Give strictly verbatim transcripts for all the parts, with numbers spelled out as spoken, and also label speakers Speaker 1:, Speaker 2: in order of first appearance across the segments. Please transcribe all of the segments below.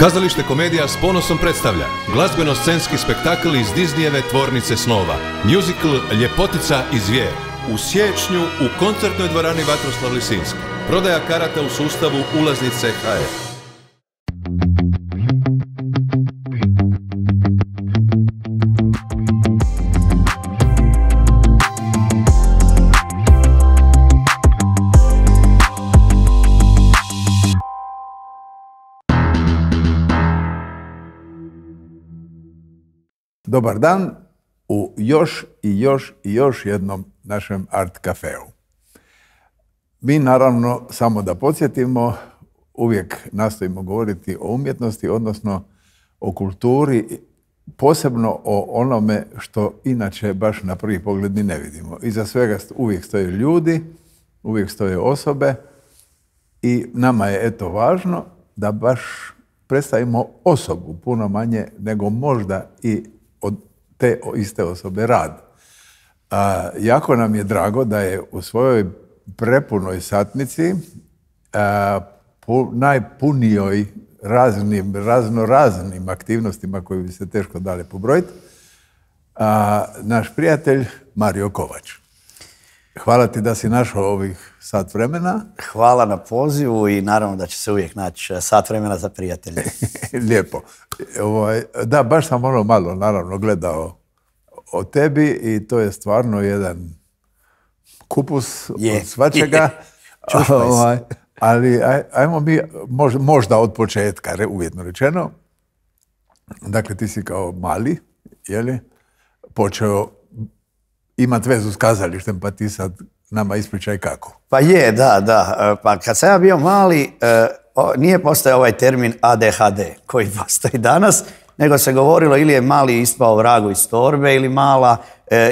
Speaker 1: Kazalište Komedija s ponosom predstavlja glazbeno-scenski spektakl iz Disneyjeve tvornice snova, musical Ljepotica i zvijer. U siječnju u koncertnoj dvorani Vatroslav Lisinski. Prodaja karata u sustavu ulaznice ha er.
Speaker 2: Dobar dan u još i još i još jednom našem art kafeu. Mi naravno, samo da podsjetimo, uvijek nastojimo govoriti o umjetnosti, odnosno o kulturi, posebno o onome što inače baš na prvi pogled ni ne vidimo. Iza svega uvijek stoje ljudi, uvijek stoje osobe i nama je eto važno da baš predstavimo osobu puno manje nego možda i od te iste osobe rad. A, jako nam je drago da je u svojoj prepunoj satnici, a, pu, najpunijoj raznim, raznoraznim aktivnostima koje bi se teško dale pobrojiti, a, naš prijatelj Mario Kovač. Hvala ti da si našao ovih sat vremena.
Speaker 3: Hvala na pozivu i naravno da će se uvijek naći sat vremena za prijatelje.
Speaker 2: Lijepo. Ovaj, da, baš sam ono malo naravno gledao o tebi i to je stvarno jedan kupus
Speaker 3: je,
Speaker 2: od svačega. Ovaj, ali aj, ajmo mi možda, možda od početka, uvjetno rečeno. Dakle, ti si kao mali, jeli, počeo imati vezu s kazalištem, pa ti sad nama ispričaj kako.
Speaker 3: Pa je, da, da. Pa kad sam ja bio mali, nije postojao ovaj termin a de ha de koji postoji danas, nego se govorilo ili je mali ispao vragu iz torbe, ili mala,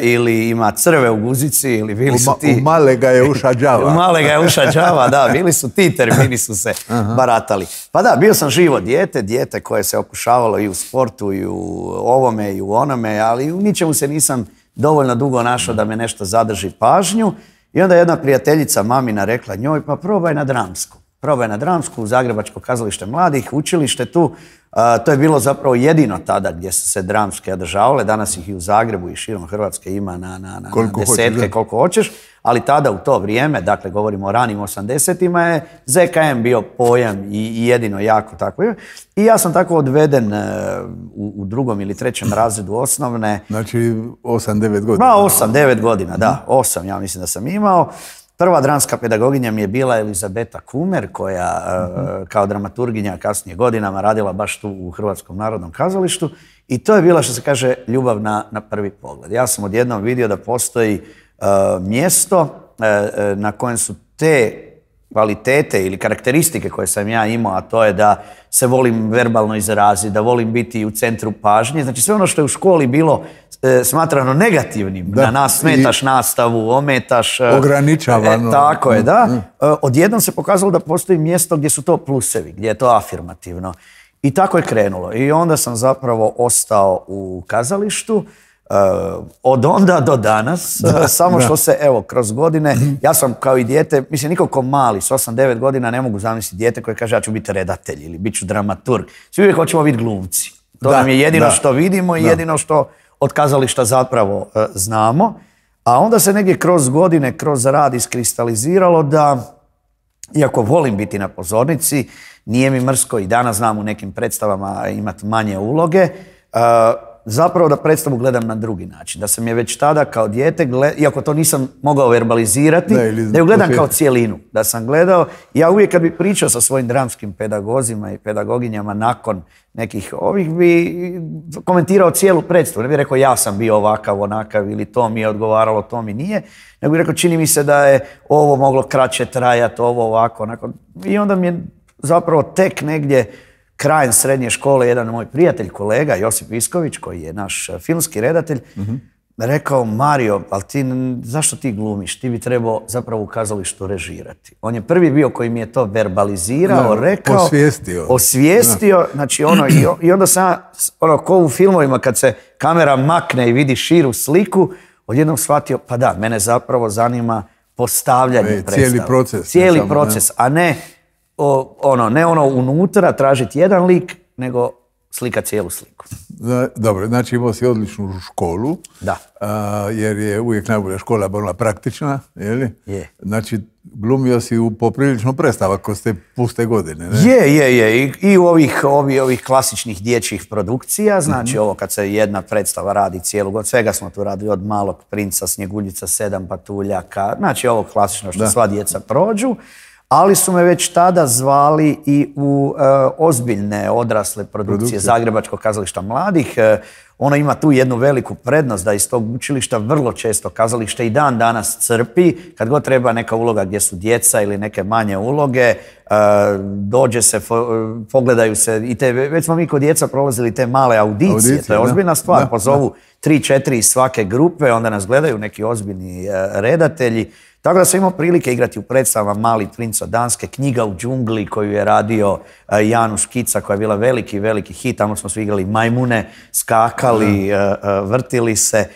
Speaker 3: ili ima crve u guzici, ili bili su ti...
Speaker 2: U male ga je uša đava.
Speaker 3: U male ga je uša đava, da, bili su ti termini su se baratali. Pa da, bio sam živo dijete, dijete koje se okušavalo i u sportu, i u ovome, i u onome, ali u ničemu se nisam dovoljno dugo našao da me nešto zadrži pažnju. I onda jedna prijateljica mamina rekla njoj, pa probaj na dramsku. Probaj na dramsku u Zagrebačko kazalište mladih, učilište tu. A, to je bilo zapravo jedino tada gdje su se dramske održavale. Danas ih i u Zagrebu i širom Hrvatske ima na, na, na, na desetke hoćeš, koliko hoćeš. Ali tada u to vrijeme, dakle govorimo o ranim osamdesetima, je ze ka em bio pojam i, i jedino jako tako. I ja sam tako odveden uh, u, u drugom ili trećem razredu osnovne.
Speaker 2: Znači osam devet godina.
Speaker 3: Da, osam devet godina, da. osam ja mislim da sam imao. Prva dramska pedagoginja mi je bila Elizabeta Kumer, koja uh, kao dramaturginja kasnije godinama radila baš tu u Hrvatskom narodnom kazalištu. I to je bila, što se kaže, ljubav na, na prvi pogled. Ja sam odjednom vidio da postoji uh, mjesto uh, na kojem su te kvalitete ili karakteristike koje sam ja imao, a to je da se volim verbalno izraziti, da volim biti u centru pažnje. Znači sve ono što je u školi bilo e, smatrano negativnim, da, na nas smetaš nastavu, ometaš...
Speaker 2: Ograničavano.
Speaker 3: E, tako je, da. E, odjednom se pokazalo da postoji mjesto gdje su to plusevi, gdje je to afirmativno. I tako je krenulo. I onda sam zapravo ostao u kazalištu. Uh, od onda do danas, da, uh, samo da. Što se, evo, kroz godine, ja sam kao i dijete, mislim, niko ko mali, s osam devet godina ne mogu zamisliti dijete koje kaže ja ću biti redatelj ili bit ću dramaturg. Svi uvijek hoćemo biti glumci. To da, nam je jedino da. Što vidimo i da. Jedino što od kazališta zapravo uh, znamo. A onda se negdje kroz godine, kroz rad iskristaliziralo da, iako volim biti na pozornici, nije mi mrsko i danas znam u nekim predstavama imati manje uloge, uh, zapravo da predstavu gledam na drugi način. Da sam je već tada kao dijete, gled... iako to nisam mogao verbalizirati, ne, ili... da ju gledam kao cijelinu. Da sam gledao, ja uvijek kad bi pričao sa svojim dramskim pedagozima i pedagoginjama nakon nekih ovih, bi komentirao cijelu predstavu. Ne bi rekao ja sam bio ovakav, onakav, ili to mi je odgovaralo, to mi nije. Nego bi rekao čini mi se da je ovo moglo kraće trajati, ovo ovako, onako. I onda mi je zapravo tek negdje krajem srednje škole jedan moj prijatelj, kolega Josip Visković, koji je naš filmski redatelj, uh-huh. rekao, Mario, ali ti, zašto ti glumiš? Ti bi trebao zapravo u kazalištu režirati. On je prvi bio koji mi je to verbalizirao, no, rekao,
Speaker 2: osvijestio.
Speaker 3: Osvijestio, no. Znači ono, i, i onda sam, ono, ko u filmovima kad se kamera makne i vidi širu sliku, odjednom shvatio, pa da, mene zapravo zanima postavljanje e, predstava.
Speaker 2: Cijeli proces.
Speaker 3: Cijeli proces, a ne... O, ono, ne ono unutra tražiti jedan lik, nego slika cijelu sliku.
Speaker 2: Dobro, znači imao si odličnu školu,
Speaker 3: da.
Speaker 2: A, jer je uvijek najbolja škola bila praktična, je li?
Speaker 3: Je.
Speaker 2: Znači, glumio si u poprilično predstava kroz te puste godine, ne?
Speaker 3: Je, je, je. I, i u ovih, ovih, ovih klasičnih dječjih produkcija, znači mm-hmm. ovo kad se jedna predstava radi cijelu godinu, svega smo tu radili od Malog princa, Snjeguljica, Sedam patuljaka, znači ovo klasično što da. Sva djeca prođu. Ali su me već tada zvali i u e, ozbiljne odrasle produkcije, produkcije Zagrebačkog kazališta mladih. E, ono ima tu jednu veliku prednost da iz tog učilišta vrlo često kazalište i dan danas crpi. Kad god treba neka uloga gdje su djeca ili neke manje uloge, e, dođe se, fo, pogledaju se i te, već smo mi kod djeca prolazili te male audicije, audicije to je ozbiljna stvar. Da, pozovu tri, četiri iz svake grupe, onda nas gledaju neki ozbiljni e, redatelji. Tako da sam imao prilike igrati u predstavama Mali princ od Danske, Knjiga u džungli koju je radio Januš Kica, koja je bila veliki, veliki hit. Tamo smo svi igrali majmune, skakali, mm. vrtili se.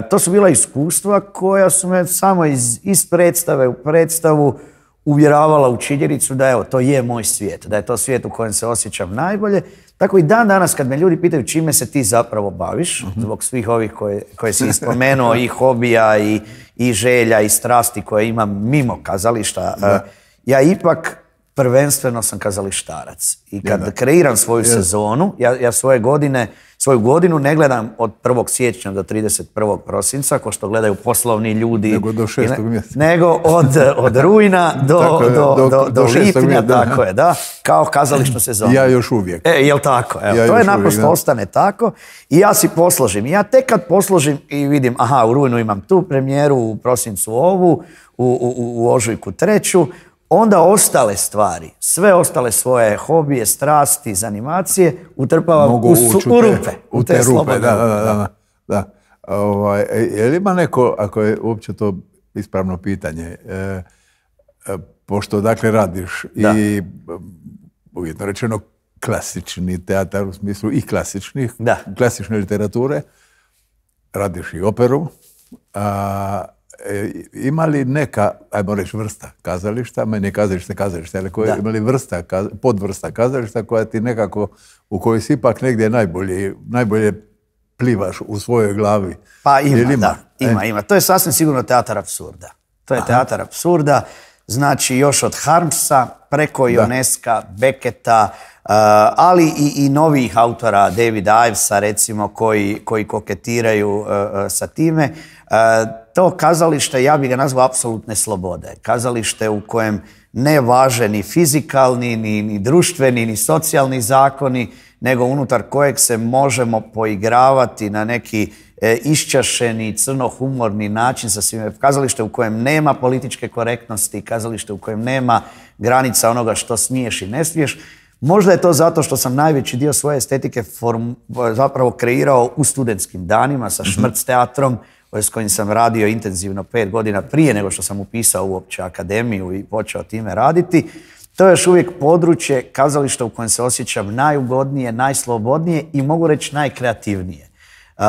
Speaker 3: To su bila iskustva koja su me samo iz, iz predstave u predstavu uvjeravala u činjenicu da evo, to je moj svijet, da je to svijet u kojem se osjećam najbolje. Tako i dan danas kad me ljudi pitaju čime se ti zapravo baviš, uh-huh. zbog svih ovih koje, koje si spomenuo, i hobija, i, i želja, i strasti koje imam mimo kazališta, uh, ja ipak prvenstveno sam kazalištarac. I kad ja, kreiram svoju ja. sezonu, ja, ja svoje godine, svoju godinu ne gledam od prvog siječnja do trideset prvog prosinca, ko što gledaju poslovni ljudi.
Speaker 2: Nego do šestog mjeseca.
Speaker 3: Nego od, od rujna do, je, do, do, do, do lipnja, tako je, da, kao kazališnu sezonu.
Speaker 2: Ja još uvijek.
Speaker 3: E, jel tako? Evo, ja to je naprosto uvijek, ostane tako. I ja si posložim. I ja tek kad posložim i vidim, aha, u rujnu imam tu premijeru, u prosincu ovu, u, u, u ožujku treću, onda ostale stvari, sve ostale svoje hobije, strasti, zanimacije utrpavam u, u, su, u rupe.
Speaker 2: U te, te rupe, da, da, da. da. Ovaj, je li ima neko, ako je uopće to ispravno pitanje, e, e, pošto dakle radiš da. i uvjetno rečeno klasični teatar u smislu i klasičnih, da. klasične literature, radiš i operu, a E, ima li neka, ajmo reći, vrsta kazališta, meni je kazalište kazalište, ali koje, ima li vrsta, podvrsta kazališta koja ti nekako, u kojoj si ipak negdje najbolje, najbolje plivaš u svojoj glavi?
Speaker 3: Pa ima, ima? da, ima, e? ima. To je sasvim sigurno teatar apsurda. To je Aha. teatar apsurda, znači još od Harmsa, preko Ionesca, Becketa, Uh, ali i, i novih autora, Davida Ivesa recimo, koji, koji koketiraju uh, uh, sa time. Uh, to kazalište, ja bih ga nazvao apsolutne slobode. Kazalište u kojem ne važe ni fizikalni, ni, ni društveni, ni socijalni zakoni, nego unutar kojeg se možemo poigravati na neki e, iščašeni, crnohumorni način sa svime. Kazalište u kojem nema političke korektnosti, kazalište u kojem nema granica onoga što smiješ i ne smiješ. Možda je to zato što sam najveći dio svoje estetike form, zapravo kreirao u studentskim danima sa Šmrc teatrom, s kojim sam radio intenzivno pet godina prije nego što sam upisao uopće akademiju i počeo time raditi. To je još uvijek područje kazališta u kojem se osjećam najugodnije, najslobodnije i mogu reći najkreativnije. Uh,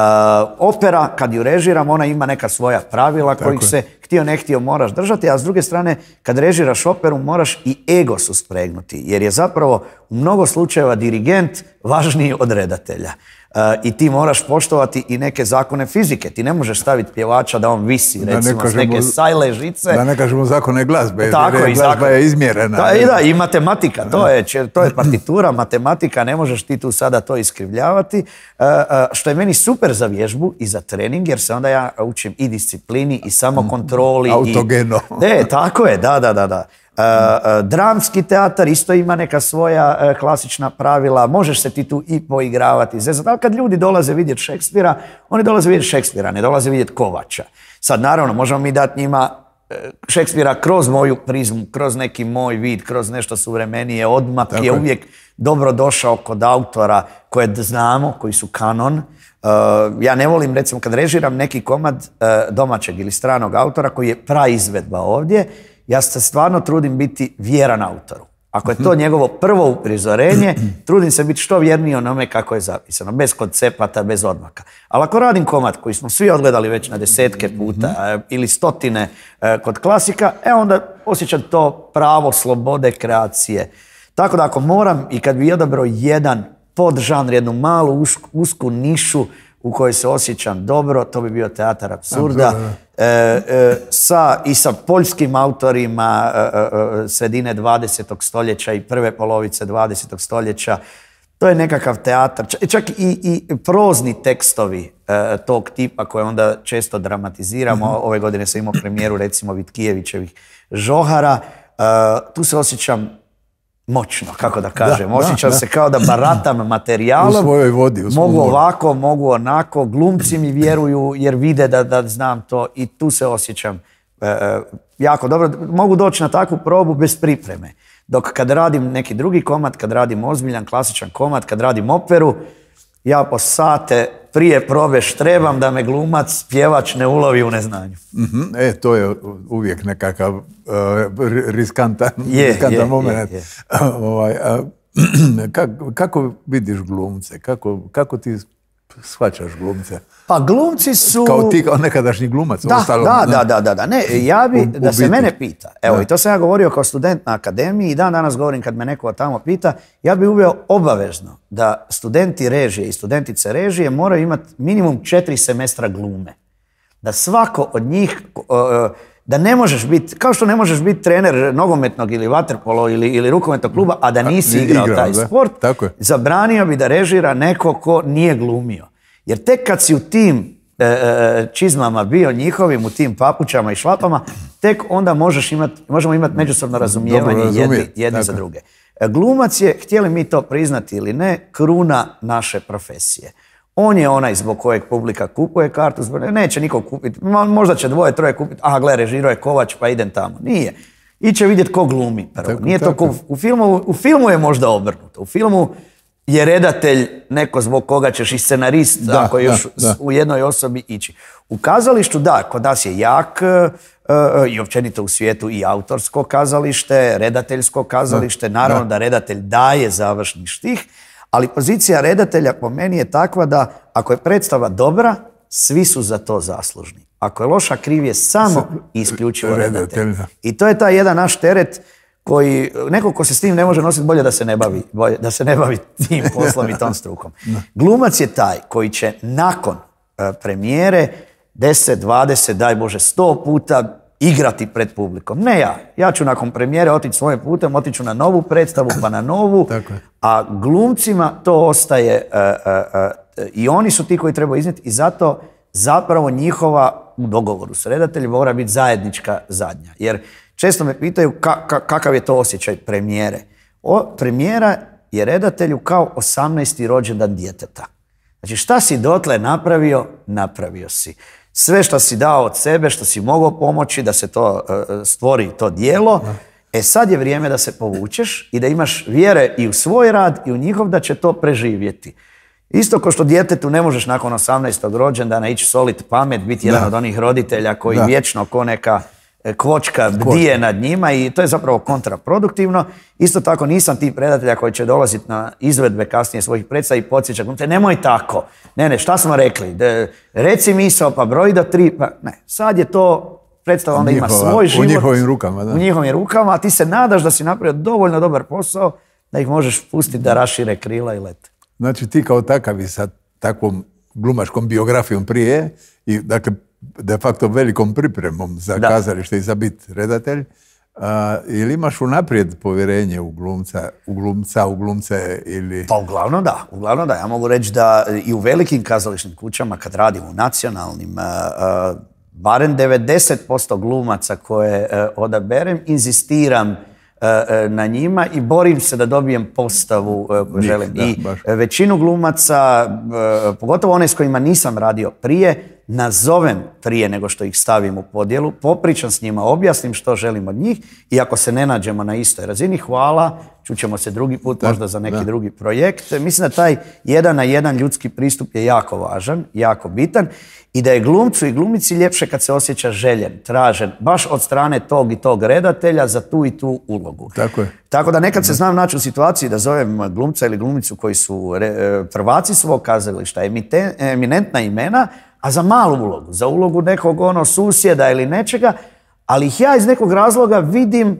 Speaker 3: opera, kad ju režiram, ona ima neka svoja pravila kojih se htio ne htio moraš držati, a s druge strane, kad režiraš operu, moraš i ego suspregnuti, jer je zapravo u mnogo slučajeva dirigent važniji od redatelja. Uh, I ti moraš poštovati i neke zakone fizike. Ti ne možeš staviti pjevača da on visi, da recimo, ne s neke sajle žice.
Speaker 2: Da ne kažemo zakone glazbe, tako, jer glazba zakon... je izmjerena.
Speaker 3: Da, i da, i matematika, to je, to je partitura, matematika, ne možeš ti tu sada to iskrivljavati. Uh, uh, što je meni super za vježbu i za trening, jer se onda ja učim i disciplini i samokontroli.
Speaker 2: Autogeno.
Speaker 3: I... Ne, tako je, da, da, da. da. Uh, uh, dramski teatar isto ima neka svoja uh, klasična pravila, možeš se ti tu i poigravati. Zato kad ljudi dolaze vidjeti Šekspira, oni dolaze vidjeti Šekspira, ne dolaze vidjeti Kovača. Sad naravno možemo mi dati njima uh, Šekspira kroz moju prizmu, kroz neki moj vid, kroz nešto suvremenije, odmak je uvijek dobro došao kod autora koje znamo, koji su kanon. Uh, ja ne volim, recimo, kad režiram neki komad uh, domaćeg ili stranog autora koji je praizvedba ovdje, ja se stvarno trudim biti vjeran autoru. Ako je to njegovo prvo uprizorenje, trudim se biti što vjerniji onome kako je zapisano, bez koncepata, bez odmaka. Ali ako radim komad koji smo svi odgledali već na desetke puta ili stotine kod klasika, e onda osjećam to pravo slobode kreacije. Tako da ako moram i kad bi odabrao jedan podžanr, jednu malu usku, usku nišu u kojoj se osjećam dobro, to bi bio teatar apsurda. E, e, sa, I sa poljskim autorima e, e, sredine dvadesetog stoljeća i prve polovice dvadesetog stoljeća. To je nekakav teatar, čak i, i prozni tekstovi e, tog tipa koje onda često dramatiziramo. Mm-hmm. Ove godine sam imao premijeru recimo Vitkijevićevih Žohara. E, tu se osjećam moćno, kako da kažem. Da, osjećam da, se da. kao da baratam materijalom.
Speaker 2: U svojoj vodi. U
Speaker 3: mogu ovako, mogu onako. Glumci mi vjeruju jer vide da, da znam to i tu se osjećam e, jako dobro. Mogu doći na takvu probu bez pripreme. Dok kad radim neki drugi komad, kad radim ozbiljan, klasičan komad, kad radim operu, ja po sate prije probe štrebam da me glumac, pjevač ne ulovi u neznanju.
Speaker 2: Mm-hmm. E, to je uvijek nekakav uh, riskantan,
Speaker 3: je,
Speaker 2: riskantan
Speaker 3: je,
Speaker 2: moment.
Speaker 3: Je, je.
Speaker 2: ovaj, uh, kako, kako vidiš glumce? Kako, kako ti shvaćaš glumce?
Speaker 3: Pa glumci su...
Speaker 2: Kao ti, kao nekadašnji glumac.
Speaker 3: Da,
Speaker 2: ostalo,
Speaker 3: da, da, da, da, da. Ne, ja bi,
Speaker 2: u,
Speaker 3: da
Speaker 2: u
Speaker 3: se
Speaker 2: biti.
Speaker 3: mene pita, evo,
Speaker 2: da.
Speaker 3: i to sam ja govorio kao student na akademiji i dan danas govorim kad me neko tamo pita, ja bi uveo obavezno da studenti režije i studentice režije moraju imati minimum četiri semestra glume. Da svako od njih... Uh, da ne možeš biti, kao što ne možeš biti trener nogometnog ili vaterpolo ili, ili rukometnog kluba, a da nisi igrao, igrao taj da. sport, zabranio bi da režira neko ko nije glumio. Jer tek kad si u tim e, čizmama bio njihovim, u tim papučama i šlapama, tek onda možeš imat, možemo imati međusobno razumijevanje jedni, jedni za druge. Glumac je, htjeli mi to priznati ili ne, kruna naše profesije. On je onaj zbog kojeg publika kupuje kartu, zbog... neće niko kupiti, možda će dvoje, troje kupiti, aha gle, režirao je Kovač pa idem tamo. Nije. Iće vidjeti ko glumi prvo. Tako, Nije tako. to ko u filmu, u filmu je možda obrnuto. U filmu je redatelj neko zbog koga ćeš i scenarist, da, ako još da, da. u jednoj osobi ići. U kazalištu, da, kod nas je jak uh, i općenito u svijetu i autorsko kazalište, redateljsko kazalište, da, naravno da. da redatelj daje završni štih, ali pozicija redatelja po meni je takva da ako je predstava dobra, svi su za to zaslužni. Ako je loša, kriv je samo i isključivo redatelj. I to je taj jedan naš teret koji, neko ko se s tim ne može nositi, bolje da se ne bavi, bolje, da se ne bavi tim poslom i tom strukom. Glumac je taj koji će nakon uh, premijere deset, dvadeset, daj Bože, sto puta igrati pred publikom. Ne ja. Ja ću nakon premijere otići svojim putem, otiću na novu predstavu, pa na novu, a glumcima to ostaje uh, uh, uh, i oni su ti koji trebaju iznijeti i zato zapravo njihova, u dogovoru s redateljem, mora biti zajednička zadnja. Jer često me pitaju ka, ka, kakav je to osjećaj premijere. O, premijera je redatelju kao osamnaesti rođendan djeteta. Znači šta si dotle napravio, napravio si. Sve što si dao od sebe, što si mogao pomoći da se to uh, stvori to djelo, e sad je vrijeme da se povučeš i da imaš vjere i u svoj rad i u njihov da će to preživjeti. Isto kao što djetetu ne možeš nakon osamnaestog rođendana ići solit pamet, biti jedan da. od onih roditelja koji da. vječno ko neka kvočka bdije nad njima i to je zapravo kontraproduktivno. Isto tako nisam tip redatelja koji će dolaziti na izvedbe kasnije svojih predstava i podsjećati, te nemoj tako, ne ne, šta smo rekli, de, reci misao pa broj do tri, pa ne, sad je to predstava, onda Njihova, ima svoj život.
Speaker 2: U njihovim rukama, da.
Speaker 3: U njihovim rukama, a ti se nadaš da si napravio dovoljno dobar posao da ih možeš pustiti da rašire krila i lete.
Speaker 2: Znači ti kao takav i sa takvom glumačkom biografijom prije i dakle de facto velikom pripremom za da. kazalište i za biti redatelj, a, ili imaš unaprijed povjerenje u glumca, u glumca, u glumce ili...
Speaker 3: Pa uglavnom da, uglavnom da. Ja mogu reći da i u velikim kazališnim kućama kad radim u nacionalnim, a, a, barem devedeset posto glumaca koje a, odaberem, inzistiram na njima i borim se da dobijem postavu koju želim. Da, I baš. većinu glumaca, pogotovo one s kojima nisam radio prije, nazovem prije nego što ih stavim u podjelu, popričam s njima, objasnim što želim od njih i ako se ne nađemo na istoj razini, hvala, čućemo se drugi put, da, možda za neki da. drugi projekt. Mislim da taj jedan na jedan ljudski pristup je jako važan, jako bitan i da je glumcu i glumici ljepše kad se osjeća željen, tražen, baš od strane tog i tog redatelja za tu i tu ulogu.
Speaker 2: Tako je.
Speaker 3: Tako da nekad se znam naći u situaciji da zovem glumca ili glumicu koji su prvaci svog kazališta, eminentna imena, a za malu ulogu, za ulogu nekog ono susjeda ili nečega, ali ih ja iz nekog razloga vidim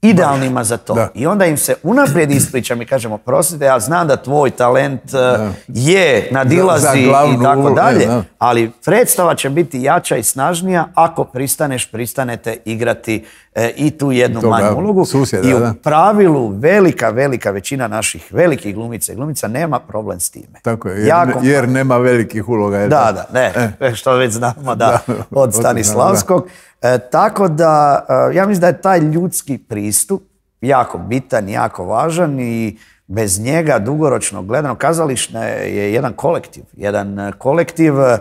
Speaker 3: idealnima za to.
Speaker 2: Da.
Speaker 3: I onda im se unaprijed ispričam i kažemo, prostite, ja znam da tvoj talent uh, je, nadilazi
Speaker 2: Za- za glavnu
Speaker 3: i tako
Speaker 2: ulogu,
Speaker 3: dalje,
Speaker 2: da.
Speaker 3: ali predstava će biti jača i snažnija ako pristaneš, pristanete igrati e, i tu jednu
Speaker 2: Toga
Speaker 3: manju ulogu.
Speaker 2: susjeda,
Speaker 3: I u
Speaker 2: da.
Speaker 3: pravilu velika, velika većina naših velikih glumica i glumica nema problem s time.
Speaker 2: Tako je, jer,
Speaker 3: Jako-
Speaker 2: jer nema velikih uloga. je
Speaker 3: Da,
Speaker 2: tako?
Speaker 3: da, ne,
Speaker 2: E.
Speaker 3: što već znamo da,
Speaker 2: Da,
Speaker 3: od Stanislavskog. E, tako da, e, ja mislim da je taj ljudski pristup jako bitan, jako važan i bez njega dugoročno gledano kazalište je jedan kolektiv. Jedan e, kolektiv, e,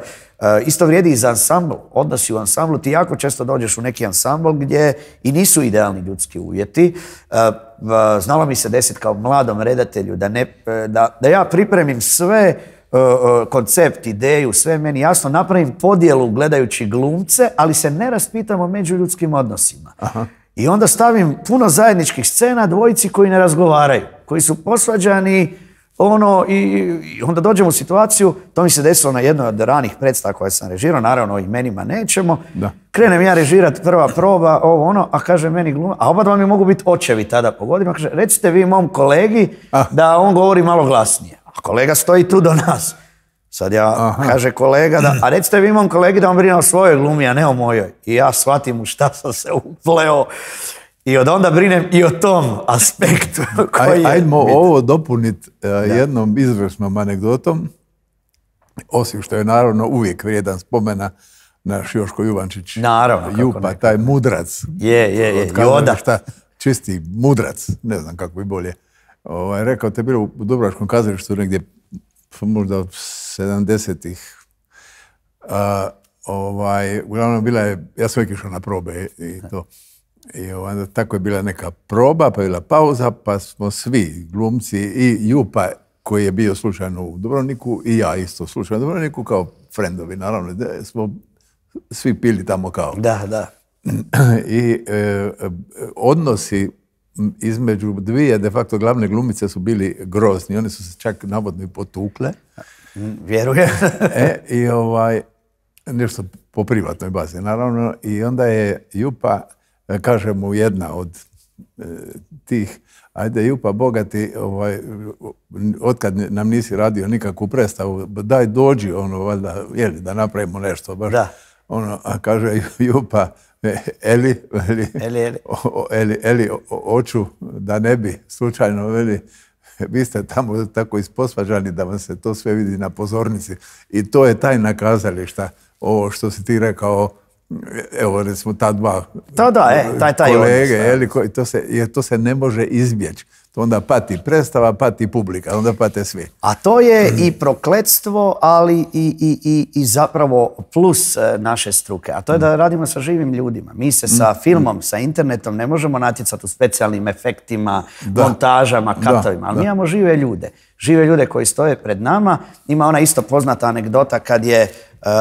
Speaker 3: isto vrijedi i za ansambl. Odnosi u ansamblu, ti jako često dođeš u neki ansambl gdje i nisu idealni ljudski uvjeti. E, v- znalo mi se desiti kao mladom redatelju da, ne, e, da, da ja pripremim sve uh, uh, koncept, ideju, sve meni jasno, napravim podjelu gledajući glumce, ali se ne raspitam o međuljudskim odnosima.
Speaker 2: Aha.
Speaker 3: I onda stavim puno zajedničkih scena dvojici koji ne razgovaraju, koji su posvađani, ono, i, i onda dođemo u situaciju, to mi se desilo na jednoj od ranih predstava koje sam režirao, naravno o imenima nećemo,
Speaker 2: Da.
Speaker 3: krenem ja režirati prva proba, ovo ono, a kaže meni gluma, a oba dva mi mogu biti očevi tada po godinu, kaže, recite vi mom kolegi
Speaker 2: Ah.
Speaker 3: da on govori malo glasnije. A kolega stoji tu do nas. Sad ja,
Speaker 2: Aha.
Speaker 3: kaže kolega, da, a recite vi mom kolegi da on brine o svojoj glumi, a ne o mojoj. I ja shvatim u šta sam se upleo i od onda brinem i o tom aspektu koji
Speaker 2: Aj,
Speaker 3: je
Speaker 2: ajdemo
Speaker 3: bitan.
Speaker 2: ovo dopuniti jednom izvrsnom anegdotom, osim što je naravno uvijek vrijedan spomena naš Joško Juvančić.
Speaker 3: Naravno, kako
Speaker 2: Jupa,
Speaker 3: ne.
Speaker 2: taj mudrac.
Speaker 3: Je, je, je,
Speaker 2: od
Speaker 3: Joda.
Speaker 2: kazališta, čisti mudrac, ne znam kako bi bolje. Ovaj, rekao, te bilo u Dubrovačkom kazalištu negdje možda sedamdesetih. A, ovaj, uglavnom bila je, ja sam uvijek išao na probe i to. I onda tako je bila neka proba, pa je bila pauza, pa smo svi glumci i Jupa koji je bio slučajno u Dubrovniku i ja isto slučajno u Dubrovniku kao frendovi, naravno, da smo svi pili tamo kao.
Speaker 3: Da, da.
Speaker 2: I e, e, odnosi između dvije de facto glavne glumice su bili grozni. One su se čak navodno i potukle.
Speaker 3: Vjerujem.
Speaker 2: E, i ovaj, nešto po privatnoj bazi, naravno. I onda je Jupa, kaže mu jedna od e, tih, ajde Jupa, bogati, ovaj, otkad nam nisi radio nikakvu predstavu, daj dođi, ono, valjda, jeli, da napravimo nešto. Baš,
Speaker 3: Da.
Speaker 2: ono, a kaže Jupa, Eli, Eli,
Speaker 3: Eli, Eli.
Speaker 2: o- Eli, Eli, o- oču da ne bi slučajno, veli, vi ste tamo tako isposvađani da vam se to sve vidi na pozornici. I to je tajna kazališta, ovo što si ti rekao, evo recimo ta dva
Speaker 3: Da, da, e, taj- taj
Speaker 2: kolege,
Speaker 3: odnos, da.
Speaker 2: Eli, koji- to, se, jer to se ne može izbjeći. To onda pati predstava, pati publika, onda pate svi.
Speaker 3: A to je i prokletstvo, ali i, i, i, i zapravo plus e, naše struke. A to je da radimo sa živim ljudima. Mi se sa filmom, sa internetom ne možemo natjecati u specijalnim efektima, montažama, katovima. Ali mi imamo žive ljude. Žive ljude koji stoje pred nama. Ima ona isto poznata anegdota kad je Uh,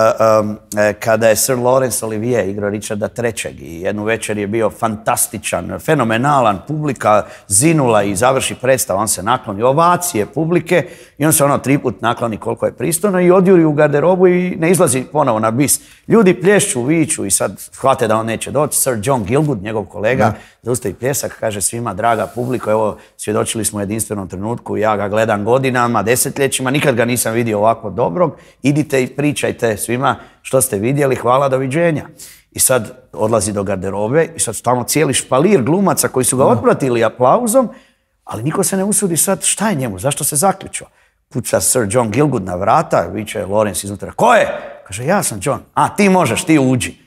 Speaker 3: um, e, kada je Sir Laurence Olivier igrao Richarda trećeg i jednu večer je bio fantastičan, fenomenalan, publika zinula i završi predstavu, on se nakloni, ovacije publike i on se ono tri put nakloni koliko je pristojno i odjuri u garderobu i ne izlazi ponovo na bis. Ljudi plješću, viču i sad shvate da on neće doći. Sir John Gielgud, njegov kolega, zaustavi pljesak, kaže svima, draga publiko, evo svjedočili smo u jedinstvenom trenutku, ja ga gledam godinama, desetljećima, nikad ga nisam vidio ovako dobrog, idite i pričajte svima što ste vidjeli, hvala, doviđenja. I sad odlazi do garderobe i sad tamo cijeli špalir glumaca koji su ga otpratili aplauzom, ali niko se ne usudi sad šta je njemu, zašto se zaključio. Kuća Sir John Gielgud na vrata, viče Lawrence iznutra, ko je? Kaže, ja sam John. A, ti možeš, ti uđi.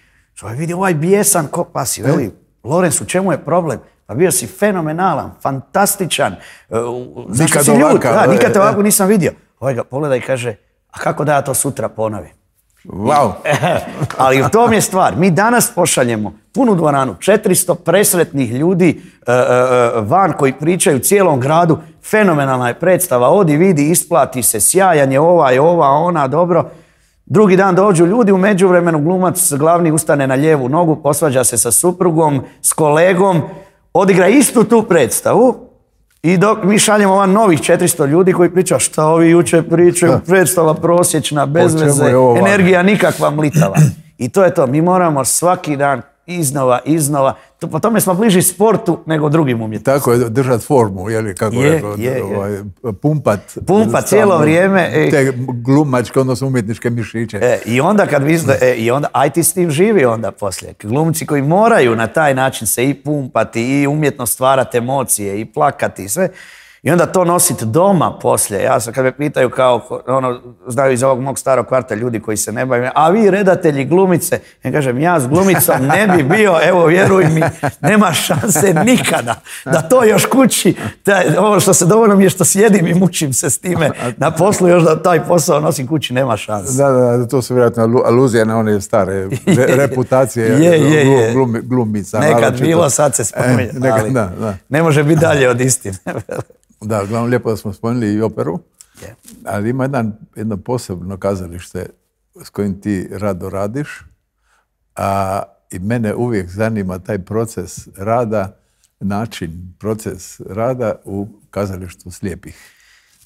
Speaker 3: Ovaj vidi ovaj bijesan ko pasi, veli, Lawrence, u čemu je problem? Pa bio si fenomenalan, fantastičan. Uh, zašto
Speaker 2: Nikad
Speaker 3: si ljud?
Speaker 2: ovakav,
Speaker 3: Da,
Speaker 2: e,
Speaker 3: nikad te
Speaker 2: e.
Speaker 3: ovako nisam vidio. Ovaj ga pogleda i kaže, a kako da ja to sutra ponovim?
Speaker 2: Wow.
Speaker 3: Ali u tom je stvar. Mi danas pošaljemo punu dvoranu, četiristo presretnih ljudi e, e, van koji pričaju cijelom gradu. Fenomenalna je predstava, odi, vidi, isplati se, sjajan je ovaj, ova, ona, dobro. Drugi dan dođu ljudi, u međuvremenu glumac glavni ustane na lijevu nogu, posvađa se sa suprugom, s kolegom, odigra istu tu predstavu. I dok mi šaljemo van novih četiristo ljudi koji pričaju šta ovi jučer pričaju, predstava prosječna, bez
Speaker 2: Po čemu
Speaker 3: veze,
Speaker 2: je ovo važno?
Speaker 3: energija nikakva mlitava. I to je to, mi moramo svaki dan iznova, iznova. To, po tome smo bliži sportu nego drugim umjetnicima.
Speaker 2: Tako je, držati formu, je li, kako
Speaker 3: je,
Speaker 2: rekao,
Speaker 3: je,
Speaker 2: ovaj,
Speaker 3: je.
Speaker 2: pumpat.
Speaker 3: Pumpat cijelo vrijeme. E,
Speaker 2: te glumačke, odnosno umjetničke mišiće.
Speaker 3: E, I onda kad vi, e, i onda, aj ti s tim živi onda poslije. Glumci koji moraju na taj način se i pumpati i umjetno stvarati emocije i plakati i sve. I onda to nositi doma poslije. Ja sam, kad me pitaju kao, ono, znaju iz ovog mog starog kvarta ljudi koji se ne bavim, a vi redatelji glumice, ja kažem, ja s glumicom ne bi bio, evo vjeruj mi, nema šanse nikada da to još kući, taj, ovo što se dovoljno mi je što sjedim i mučim se s time na poslu, još da taj posao nosim kući, nema šanse.
Speaker 2: Da, da, to su vjerojatno aluzije na one stare re, reputacije
Speaker 3: je, je, je.
Speaker 2: Glum, glumica.
Speaker 3: Nekad
Speaker 2: naročito.
Speaker 3: bilo, sad se spominje,
Speaker 2: e, nekad,
Speaker 3: ali
Speaker 2: da, da.
Speaker 3: ne može biti dalje od istine.
Speaker 2: Da, uglavnom lijepo da smo spomenuli i operu,
Speaker 3: yeah.
Speaker 2: ali ima jedan, jedno posebno kazalište s kojim ti rado radiš, a i mene uvijek zanima taj proces rada, način, proces rada u kazalištu slijepih.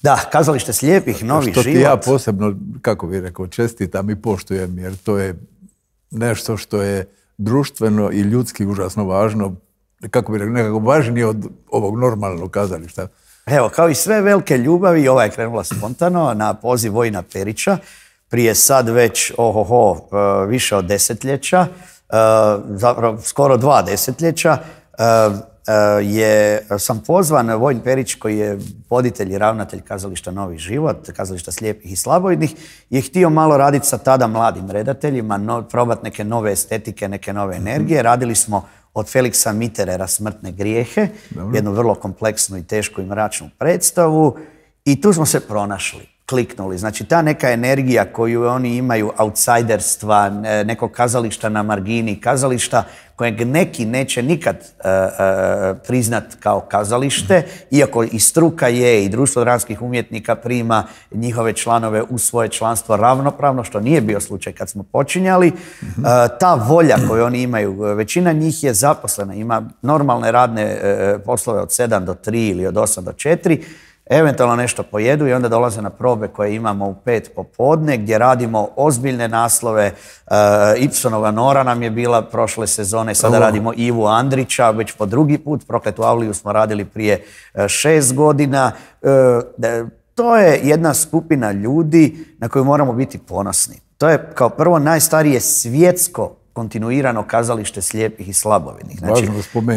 Speaker 3: Da, kazalište slijepih, novi
Speaker 2: što
Speaker 3: život.
Speaker 2: Što ti ja posebno, kako bih rekao, čestitam i poštujem, jer to je nešto što je društveno i ljudski užasno važno, kako bih rekao, nekako važnije od ovog normalnog kazališta.
Speaker 3: Evo, kao i sve velike ljubavi, ova je krenula spontano na poziv Vojina Perića, prije sad već, ohoho, više od desetljeća, zapravo skoro dva desetljeća, je, sam pozvan, Vojin Perić, koji je voditelj i ravnatelj kazališta Novi život, kazališta slijepih i slabovidnih, je htio malo raditi sa tada mladim redateljima, no, probati neke nove estetike, neke nove energije. Radili smo od Feliksa Mitterera Smrtne grijehe, Dobro. jednu vrlo kompleksnu i tešku i mračnu predstavu, i tu smo se pronašli, kliknuli. Znači, ta neka energija koju oni imaju, outsiderstva, nekog kazališta na margini, kazališta kojeg neki neće nikad uh, uh, priznat kao kazalište, iako i struka je i Društvo dramskih umjetnika prima njihove članove u svoje članstvo ravnopravno, što nije bio slučaj kad smo počinjali. Mm-hmm. Uh, ta volja koju oni imaju, većina njih je zaposlena, ima normalne radne uh, poslove od sedam do tri ili od osam do četiri, eventualno nešto pojedu i onda dolaze na probe koje imamo u pet popodne, gdje radimo ozbiljne naslove. Uh, Ibsenova Nora nam je bila prošle sezone, sada oh. radimo Ivu Andrića, već po drugi put. Prokletu Avliju smo radili prije uh, šest godina. Uh, to je jedna skupina ljudi na koju moramo biti ponosni. To je kao prvo najstarije svjetsko kontinuirano kazalište slijepih i slabovidnih. Znači,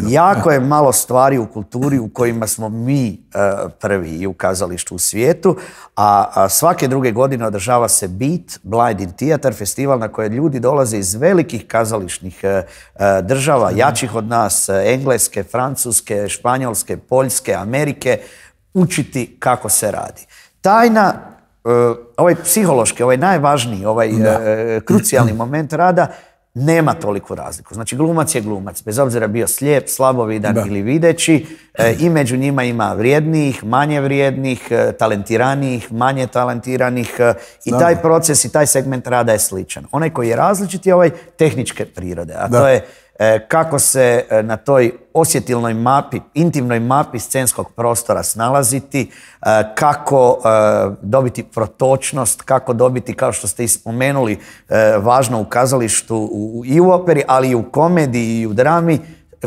Speaker 3: jako je malo stvari u kulturi u kojima smo mi uh, prvi i u kazalištu u svijetu, a, a svake druge godine održava se BEAT, Blind in Theatre, festival na koje ljudi dolaze iz velikih kazališnih uh, država, mm. jačih od nas, Engleske, Francuske, Španjolske, Poljske, Amerike, učiti kako se radi. Tajna, uh, ovaj psihološki, ovaj najvažniji, ovaj uh, krucijalni moment rada, nema toliku razliku. Znači, glumac je glumac, bez obzira bio slijep, slabovidan da. ili videći, e, i među njima ima vrijednijih, manje vrijednih, e, talentiranijih, manje talentiranih, e, i da. taj proces i taj segment rada je sličan. Onaj koji je različit je ovaj tehničke prirode, a da. to je e, kako se e, na toj osjetilnoj mapi, intimnoj mapi scenskog prostora snalaziti, e, kako e, dobiti protočnost, kako dobiti, kao što ste i spomenuli, e, važno u kazalištu u, i u operi, ali i u komediji i u drami,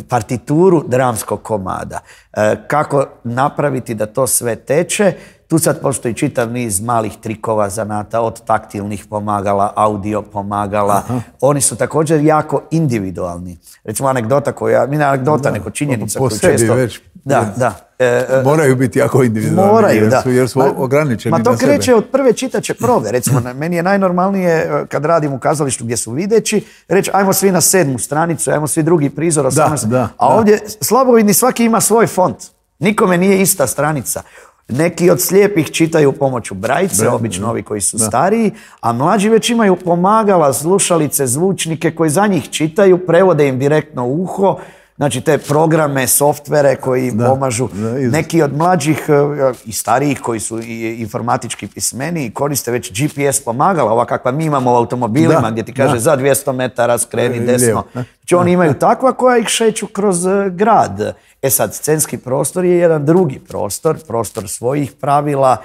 Speaker 3: partituru dramskog komada. E, kako napraviti da to sve teče. Tu sad postoji čitav niz malih trikova, zanata, od taktilnih pomagala, audio pomagala. Aha. Oni su također jako individualni. Recimo anegdota koja, ne anegdota, da, neko činjenica koju često... Već, da, da. E,
Speaker 2: moraju biti jako individualni,
Speaker 3: moraju,
Speaker 2: jer,
Speaker 3: da.
Speaker 2: su, jer su ma, ograničeni
Speaker 3: ma to
Speaker 2: na sebe.
Speaker 3: kreće od prve čitače probe. Recimo, meni je najnormalnije kad radim u kazalištu gdje su videći, reći ajmo svi na sedmu stranicu, ajmo svi drugi prizor, osamnaest. Da, da, a da. Ovdje slabovidni svaki ima svoj font. Nikome nije ista stranica. Neki od slijepih čitaju pomoću brajice, Bre, obično ovi koji su da. stariji, a mlađi već imaju pomagala, slušalice, zvučnike koji za njih čitaju, prevode im direktno u uho, znači te programe, softvere koji im da, pomažu. Da, neki od mlađih i starijih koji su informatički pismeni koriste već G P S pomagala, ova kakva mi imamo u automobilima, da, gdje ti kaže da. za dvjesto metara skreni desno. Znači oni imaju takva koja ih šeću kroz grad. E sad, scenski prostor je jedan drugi prostor, prostor svojih pravila,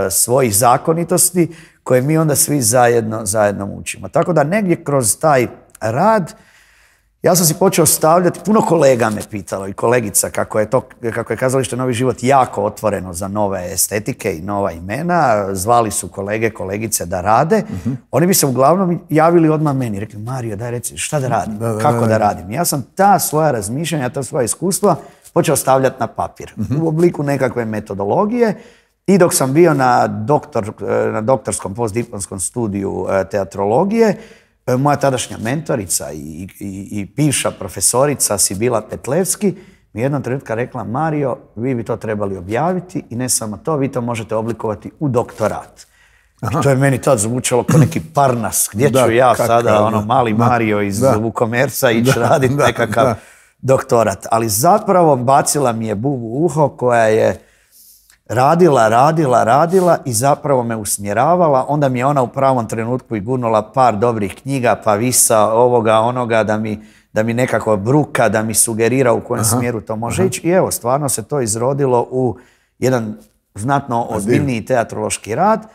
Speaker 3: svojih zakonitosti, koje mi onda svi zajedno, zajedno učimo. Tako da negdje kroz taj rad Ja sam si počeo stavljati, puno kolega me pitalo i kolegica kako je, to, kako je kazalište Novi život jako otvoreno za nove estetike i nova imena. Zvali su kolege, kolegice da rade. Uh-huh. Oni bi se uglavnom javili odmah meni. Rekli, Mario, daj reci šta da radim, da, da, kako da, da. da radim. Ja sam ta svoja razmišljanja, ta svoja iskustva počeo stavljati na papir. Uh-huh. U obliku nekakve metodologije. I dok sam bio na, doktor, na doktorskom postdiplomskom studiju teatrologije, moja tadašnja mentorica i, i, i bivša profesorica Sibila Petlevski mi jednom trenutka rekla, Mario, vi bi to trebali objaviti i ne samo to, vi to možete oblikovati u doktorat. Aha. I to je meni tad zvučalo kao neki Parnas. Gdje da, ću ja kakav, sada, ono, mali da, Mario iz da, Vukomerca ići raditi nekakav da. doktorat. Ali zapravo bacila mi je bubu u uho koja je radila, radila, radila i zapravo me usmjeravala. Onda mi je ona u pravom trenutku i gurnula par dobrih knjiga, pa visa ovoga, onoga, da mi, da mi nekako bruka, da mi sugerira u kojem aha, smjeru to može aha. ići. I evo, stvarno se to izrodilo u jedan znatno ozbiljniji teatrološki rad,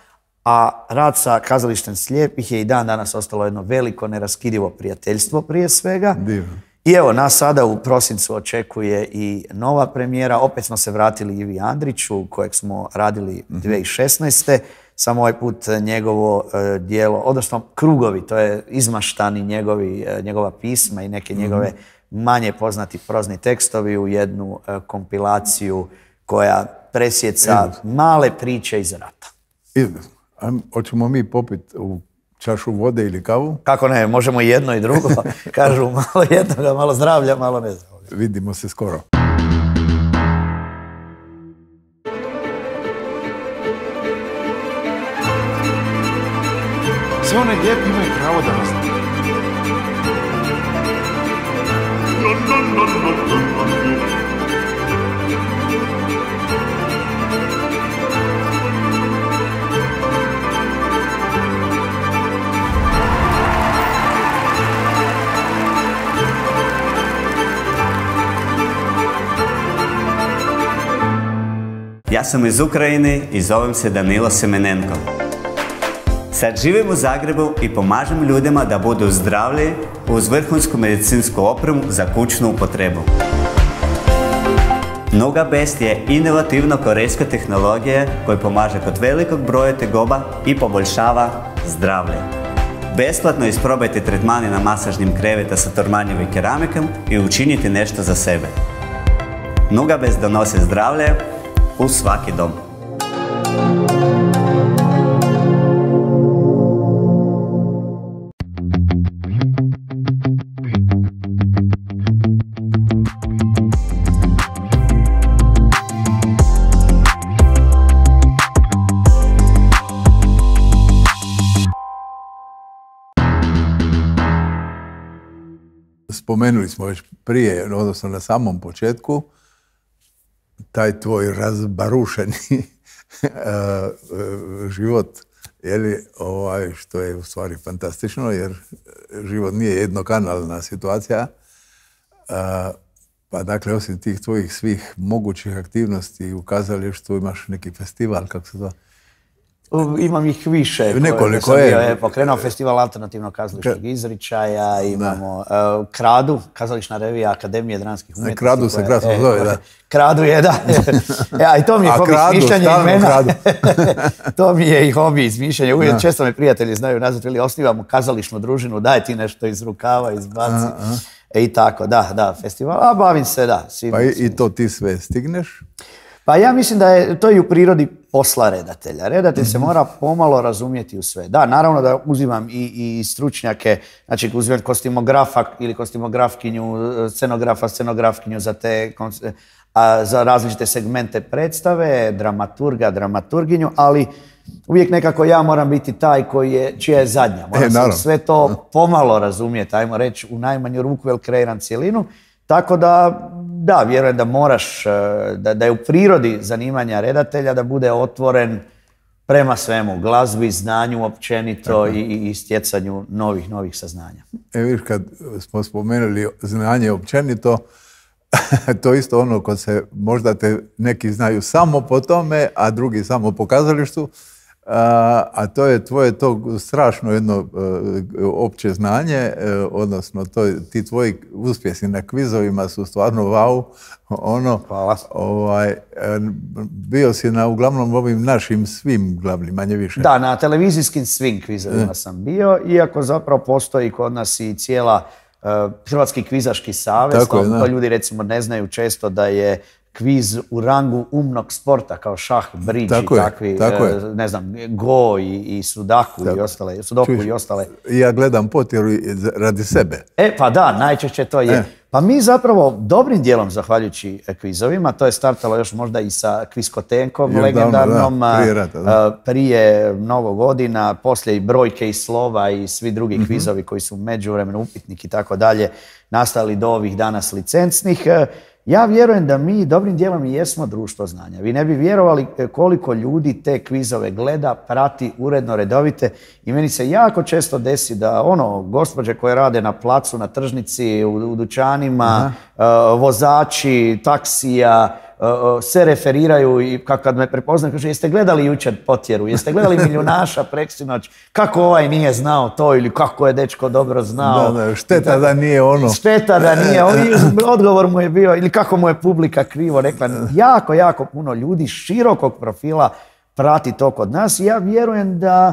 Speaker 3: a rad sa Kazalištem slijepih je i dan danas ostalo jedno veliko, neraskidivo prijateljstvo prije svega.
Speaker 2: Divno.
Speaker 3: I evo, nas sada u prosincu očekuje i nova premijera. Opet smo se vratili Ivi Andriću, kojeg smo radili dvije tisuće šesnaeste. Samo ovaj put njegovo uh, dijelo, odnosno Krugovi, to je izmaštani njegovi, uh, njegova pisma i neke njegove manje poznati prozni tekstovi u jednu uh, kompilaciju koja presjeca male priče iz rata.
Speaker 2: Izvrsno. Hoćemo mi popiti u čašu vode ili kavu?
Speaker 3: Kako ne, možemo i jedno i drugo. Kažu malo jednoga, malo zdravlja, malo ne znam.
Speaker 2: Vidimo se skoro.
Speaker 4: Sve one lijepi imaju pravo da nas...
Speaker 5: Ja sam iz Ukrajine i zovem se Danilo Semenenko. Sad živim u Zagrebu i pomažem ljudima da budu zdravlji uz vrhunsku medicinsku opremu za kućnu upotrebu. Nogabest je inovativna korejska tehnologija koja pomaže kod velikog broja tegoba i poboljšava zdravlje. Besplatno isprobajte tretmani na masažnim kreveta sa tormanjevim keramikom i učinite nešto za sebe. Nogabest donose zdravlje u svaki dom.
Speaker 2: Spomenuli smo već prije, odnosno na samom početku, taj tvoj razbarušeni život, jeli, ovaj, što je u stvari fantastično, jer život nije jednokanalna situacija. Pa dakle, osim tih tvojih svih mogućih aktivnosti u kazalištu, imaš neki festival, kako se zove?
Speaker 3: Imam ih više.
Speaker 2: Nekoliko je.
Speaker 3: je pokrenuo festival alternativnog kazališnog izričaja, imamo uh, Kradu, kazališna revija Akademije dramskih umjetnosti.
Speaker 2: Kradu se krasno e, zove, da.
Speaker 3: Kradu je, da. Ja, i to mi je hobi izmišljanja imena. To mi je i hobi izmišljanja. Uvijek da. Često me prijatelji znaju nazvati, ili osnivamo kazališnu družinu, daj ti nešto iz rukava, izbaci. A, a. E, I tako, da, da, festival. A bavim se, da. Svim,
Speaker 2: pa i,
Speaker 3: svim.
Speaker 2: i to ti sve stigneš?
Speaker 3: Pa ja mislim da je to i u prirodi posla redatelja. Redatelj se mora pomalo razumjeti u sve. Da, naravno da uzimam i, i stručnjake, znači uzimam kostimografa ili kostimografkinju, scenografa, scenografkinju za te a, za različite segmente predstave, dramaturga, dramaturginju, ali uvijek nekako ja moram biti taj koji je, čija je zadnja. Moram e, se sve to pomalo razumjeti, ajmo reći, u najmanju ruku, jer kreiram cijelinu. Tako da, da, vjerujem da moraš, da, da je u prirodi zanimanja redatelja da bude otvoren prema svemu, glazbi, znanju općenito i, i stjecanju novih, novih saznanja.
Speaker 2: E viš, kad smo spomenuli znanje općenito, to isto ono kod se, možda te neki znaju samo po tome, a drugi samo po kazalištu. A, a to je tvoje to strašno jedno uh, opće znanje, uh, odnosno to, ti tvoji uspjesi na kvizovima su stvarno wow. Ono,
Speaker 3: Hvala.
Speaker 2: Ovaj, bio si na uglavnom ovim našim svim glavnim, manje više.
Speaker 3: Da, na televizijskim svim kvizovima sam bio, iako zapravo postoji kod nas i cijela uh, Hrvatski kvizaški savez.
Speaker 2: Tako je,
Speaker 3: to, to ljudi recimo ne znaju često da je kviz u rangu umnog sporta kao šah, bridž i takvi,
Speaker 2: tako
Speaker 3: uh, ne znam, go i, i sudaku tako. i ostale, sudoku Čuš, i ostale.
Speaker 2: Ja gledam potjeru radi sebe.
Speaker 3: E, pa da, najčešće to je. E. Pa mi zapravo dobrim dijelom, zahvaljujući kvizovima, to je startalo još možda i sa kviskotenkom je, legendarnom,
Speaker 2: da, prije, rata, da.
Speaker 3: prije Novog godina, poslije i brojke i slova i svi drugi mm-hmm. kvizovi koji su u međuvremenu upitnik i tako dalje nastali do ovih danas licencnih. Ja vjerujem da mi dobrim dijelom i jesmo društvo znanja. Vi ne bi vjerovali koliko ljudi te kvizove gleda, prati uredno, redovite i meni se jako često desi da ono, gospođe koje rade na placu, na tržnici, u, u dućanima, uh, vozači, taksija, uh, se referiraju i kad me prepoznaju, kaže, jeste gledali jučer potjeru, jeste gledali Milijunaša preksinoć, kako ovaj nije znao to ili kako je dečko dobro znao.
Speaker 2: Da, da, šteta da nije ono.
Speaker 3: Šteta da nije ono. Odgovor mu je bio, ili kako mu je publika krivo rekla. Jako, jako puno ljudi širokog profila prati to kod nas i ja vjerujem da,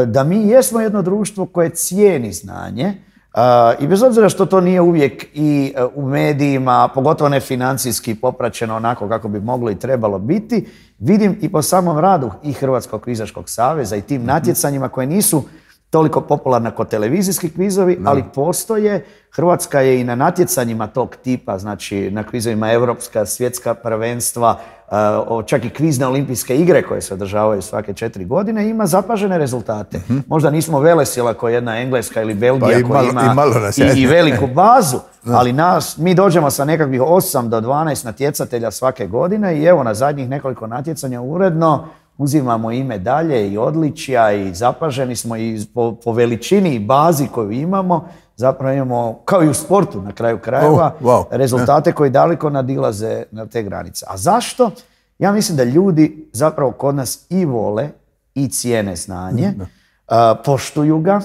Speaker 3: da mi jesmo jedno društvo koje cijeni znanje. Uh, I bez obzira što to nije uvijek i uh, u medijima, pogotovo ne financijski popraćeno onako kako bi moglo i trebalo biti, vidim i po samom radu i Hrvatskog kvizaškog saveza i tim natjecanjima koje nisu toliko popularna kao televizijski kvizovi, no. ali postoje. Hrvatska je i na natjecanjima tog tipa, znači na kvizovima Europska, svjetska prvenstva, uh, čak i kvizne olimpijske igre koje se održavaju svake četiri godine, ima zapažene rezultate. Mm-hmm. Možda nismo velesila kao jedna Engleska ili Belgija
Speaker 2: pa
Speaker 3: koja
Speaker 2: ima,
Speaker 3: i, i, i veliku bazu, no. ali nas, mi dođemo sa nekakvih osam do dvanaest natjecatelja svake godine i evo na zadnjih nekoliko natjecanja uredno uzimamo i medalje i odličja i zapaženi smo i po, po veličini i bazi koju imamo, zapravo imamo, kao i u sportu na kraju krajeva, oh, wow. rezultate koji daleko nadilaze na te granice. A zašto? Ja mislim da ljudi zapravo kod nas i vole i cijene znanje, mm, uh, poštuju ga.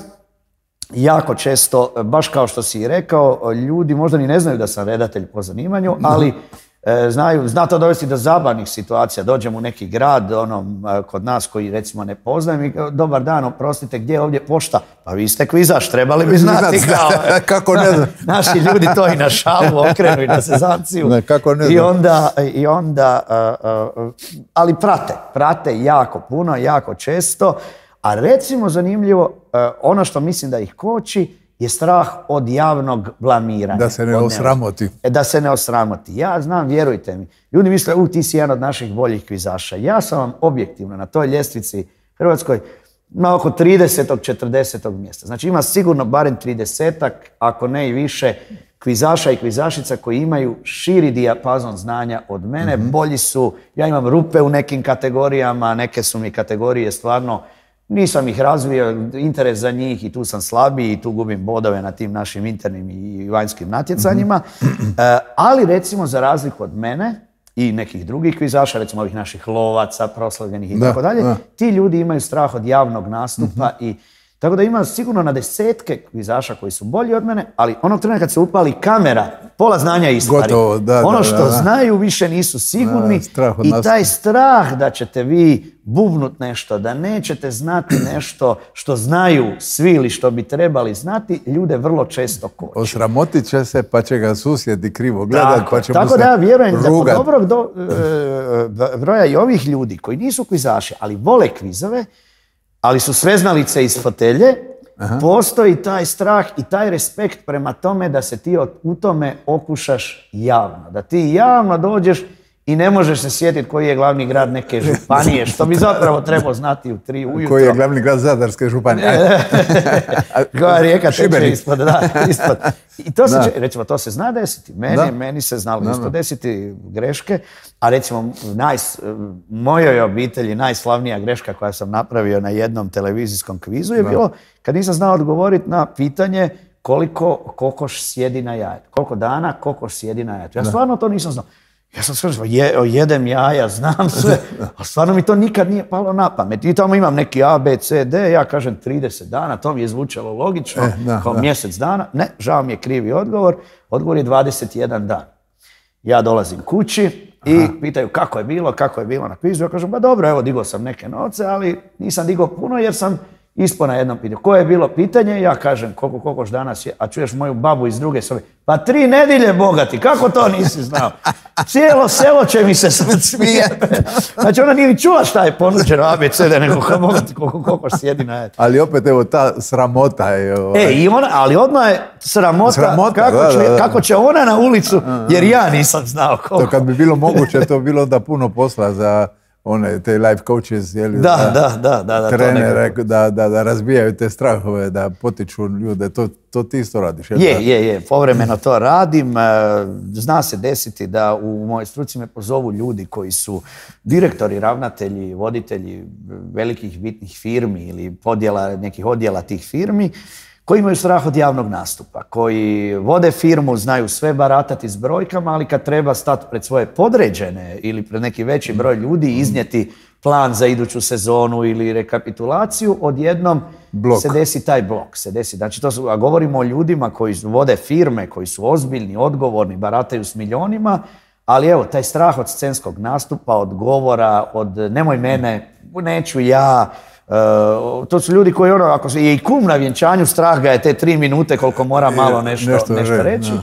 Speaker 3: Jako često, baš kao što si rekao, ljudi možda ni ne znaju da sam redatelj po zanimanju, ali znaju, zna to dovesti do zabavnih situacija. Dođem u neki grad, ono, kod nas koji recimo ne poznajem i dobar dan, oprostite, gdje je ovdje pošta? Pa vi ste kvizaš, trebali bi znati. Kao,
Speaker 2: kako ne znam.
Speaker 3: Naši ljudi to i na šalu okrenu i na sezanciju.
Speaker 2: Ne, kako ne znam.
Speaker 3: I onda, i onda uh, uh, ali prate, prate jako puno, jako često. A recimo zanimljivo, uh, ono što mislim da ih koči, je strah od javnog blamiranja.
Speaker 2: Da se ne osramoti.
Speaker 3: Da se ne osramoti. Ja znam, vjerujte mi, ljudi misle, u, ti si jedan od naših boljih kvizaša. Ja sam vam objektivno na toj ljestvici Hrvatskoj na oko tridesetog četrdesetog mjesta. Znači ima sigurno barem tridesetak, ako ne i više, kvizaša i kvizašica koji imaju širi dijapazon znanja od mene. Mm-hmm. Bolji su, ja imam rupe u nekim kategorijama, neke su mi kategorije stvarno, nisam ih razvio, interes za njih i tu sam slabiji i tu gubim bodove na tim našim internim i vanjskim natjecanjima. Mm-hmm. E, ali recimo za razliku od mene i nekih drugih kvizaša, recimo ovih naših lovaca, proslavljenih i da, tako dalje, da. Ti ljudi imaju strah od javnog nastupa mm-hmm. i tako da ima sigurno na desetke kvizaša koji su bolji od mene, ali onog trena kad se upali kamera, pola znanja ispari.
Speaker 2: Gotovo, da,
Speaker 3: ono što
Speaker 2: da, da.
Speaker 3: znaju više nisu sigurni
Speaker 2: da,
Speaker 3: i taj strah da ćete vi bubnut nešto, da nećete znati nešto što znaju svi ili što bi trebali znati, ljude vrlo često koči.
Speaker 2: Osramotit će se pa će ga susjedi krivo gledat pa će
Speaker 3: tako
Speaker 2: mu se
Speaker 3: da ja vjerujem
Speaker 2: rugat.
Speaker 3: Da kod dobrog do, e, broja i ovih ljudi koji nisu kvizaši, ali vole kvizove, ali su sveznalice iz fotelje, aha. Postoji taj strah i taj respekt prema tome da se ti u tome okušaš javno. Da ti javno dođeš i ne možeš se sjetiti koji je glavni grad neke županije, što bi zapravo trebao znati u tri ujutro.
Speaker 2: Koji je glavni grad Zadarske županije?
Speaker 3: Koja rijeka teče ispod, da, ispod. I to se, recimo, to se zna desiti. Meni, meni se znalo da, isto da. desiti greške, a recimo naj, mojoj obitelji najslavnija greška koja sam napravio na jednom televizijskom kvizu je da. bilo kad nisam znao odgovoriti na pitanje koliko kokoš sjedi na jajetu. Koliko dana kokoš sjedi na jajetu. Ja da. stvarno to nisam znao. Ja sam skoro, je, jedem jaja, znam sve, a stvarno mi to nikad nije palo na pamet. I tamo imam neki A, B, C, D, ja kažem trideset dana, to mi je zvučalo logično, e, da, kao da. mjesec dana. Ne, žao mi je krivi odgovor, odgovor je dvadeset jedan dan. Ja dolazim kući i Aha. pitaju kako je bilo, kako je bilo na kvizu. Ja kažem, ba dobro, evo, digao sam neke novce, ali nisam digao puno jer sam ispao na jednom pitanju. Koje je bilo pitanje? Ja kažem, koliko kokoš danas je, a čuješ moju babu iz druge sobe. Pa tri nedjelje, bogati, kako to nisi znao? Cijelo selo će mi se smijeti. Znači ona nije ni čula šta je ponuđeno A B C D, nego kao bogati, koliko kokoš sjedi na jedu.
Speaker 2: Ali opet, evo, ta sramota je... Ovaj...
Speaker 3: E, i ona, ali odmah je sramota, sramota kako, da, će, da, da. kako će ona na ulicu, jer ja nisam znao koliko.
Speaker 2: To kad bi bilo moguće, to bi bilo onda puno posla za... one, te life coaches, jeli,
Speaker 3: da, da, da, da, da,
Speaker 2: trenere, da, da, da razbijaju te strahove, da potiču ljude, to, to ti isto radiš.
Speaker 3: Je, je, je, je, povremeno to radim. Zna se desiti da u mojoj struci me pozovu ljudi koji su direktori, ravnatelji, voditelji velikih bitnih firmi ili podjela, nekih odjela tih firmi, koji imaju strah od javnog nastupa, koji vode firmu, znaju sve baratati s brojkama, ali kad treba stati pred svoje podređene ili pred neki veći broj ljudi i iznijeti plan za iduću sezonu ili rekapitulaciju, odjednom blok. se desi taj blok. Se desi. Znači, to su, a govorimo o ljudima koji vode firme, koji su ozbiljni, odgovorni, barataju s milionima, ali evo, taj strah od scenskog nastupa, od govora, od nemoj mene, neću ja. Uh, to su ljudi koji, ono, ako se je i kum na vjenčanju, strah ga je te tri minute koliko mora malo nešto, nešto, nešto reći. No.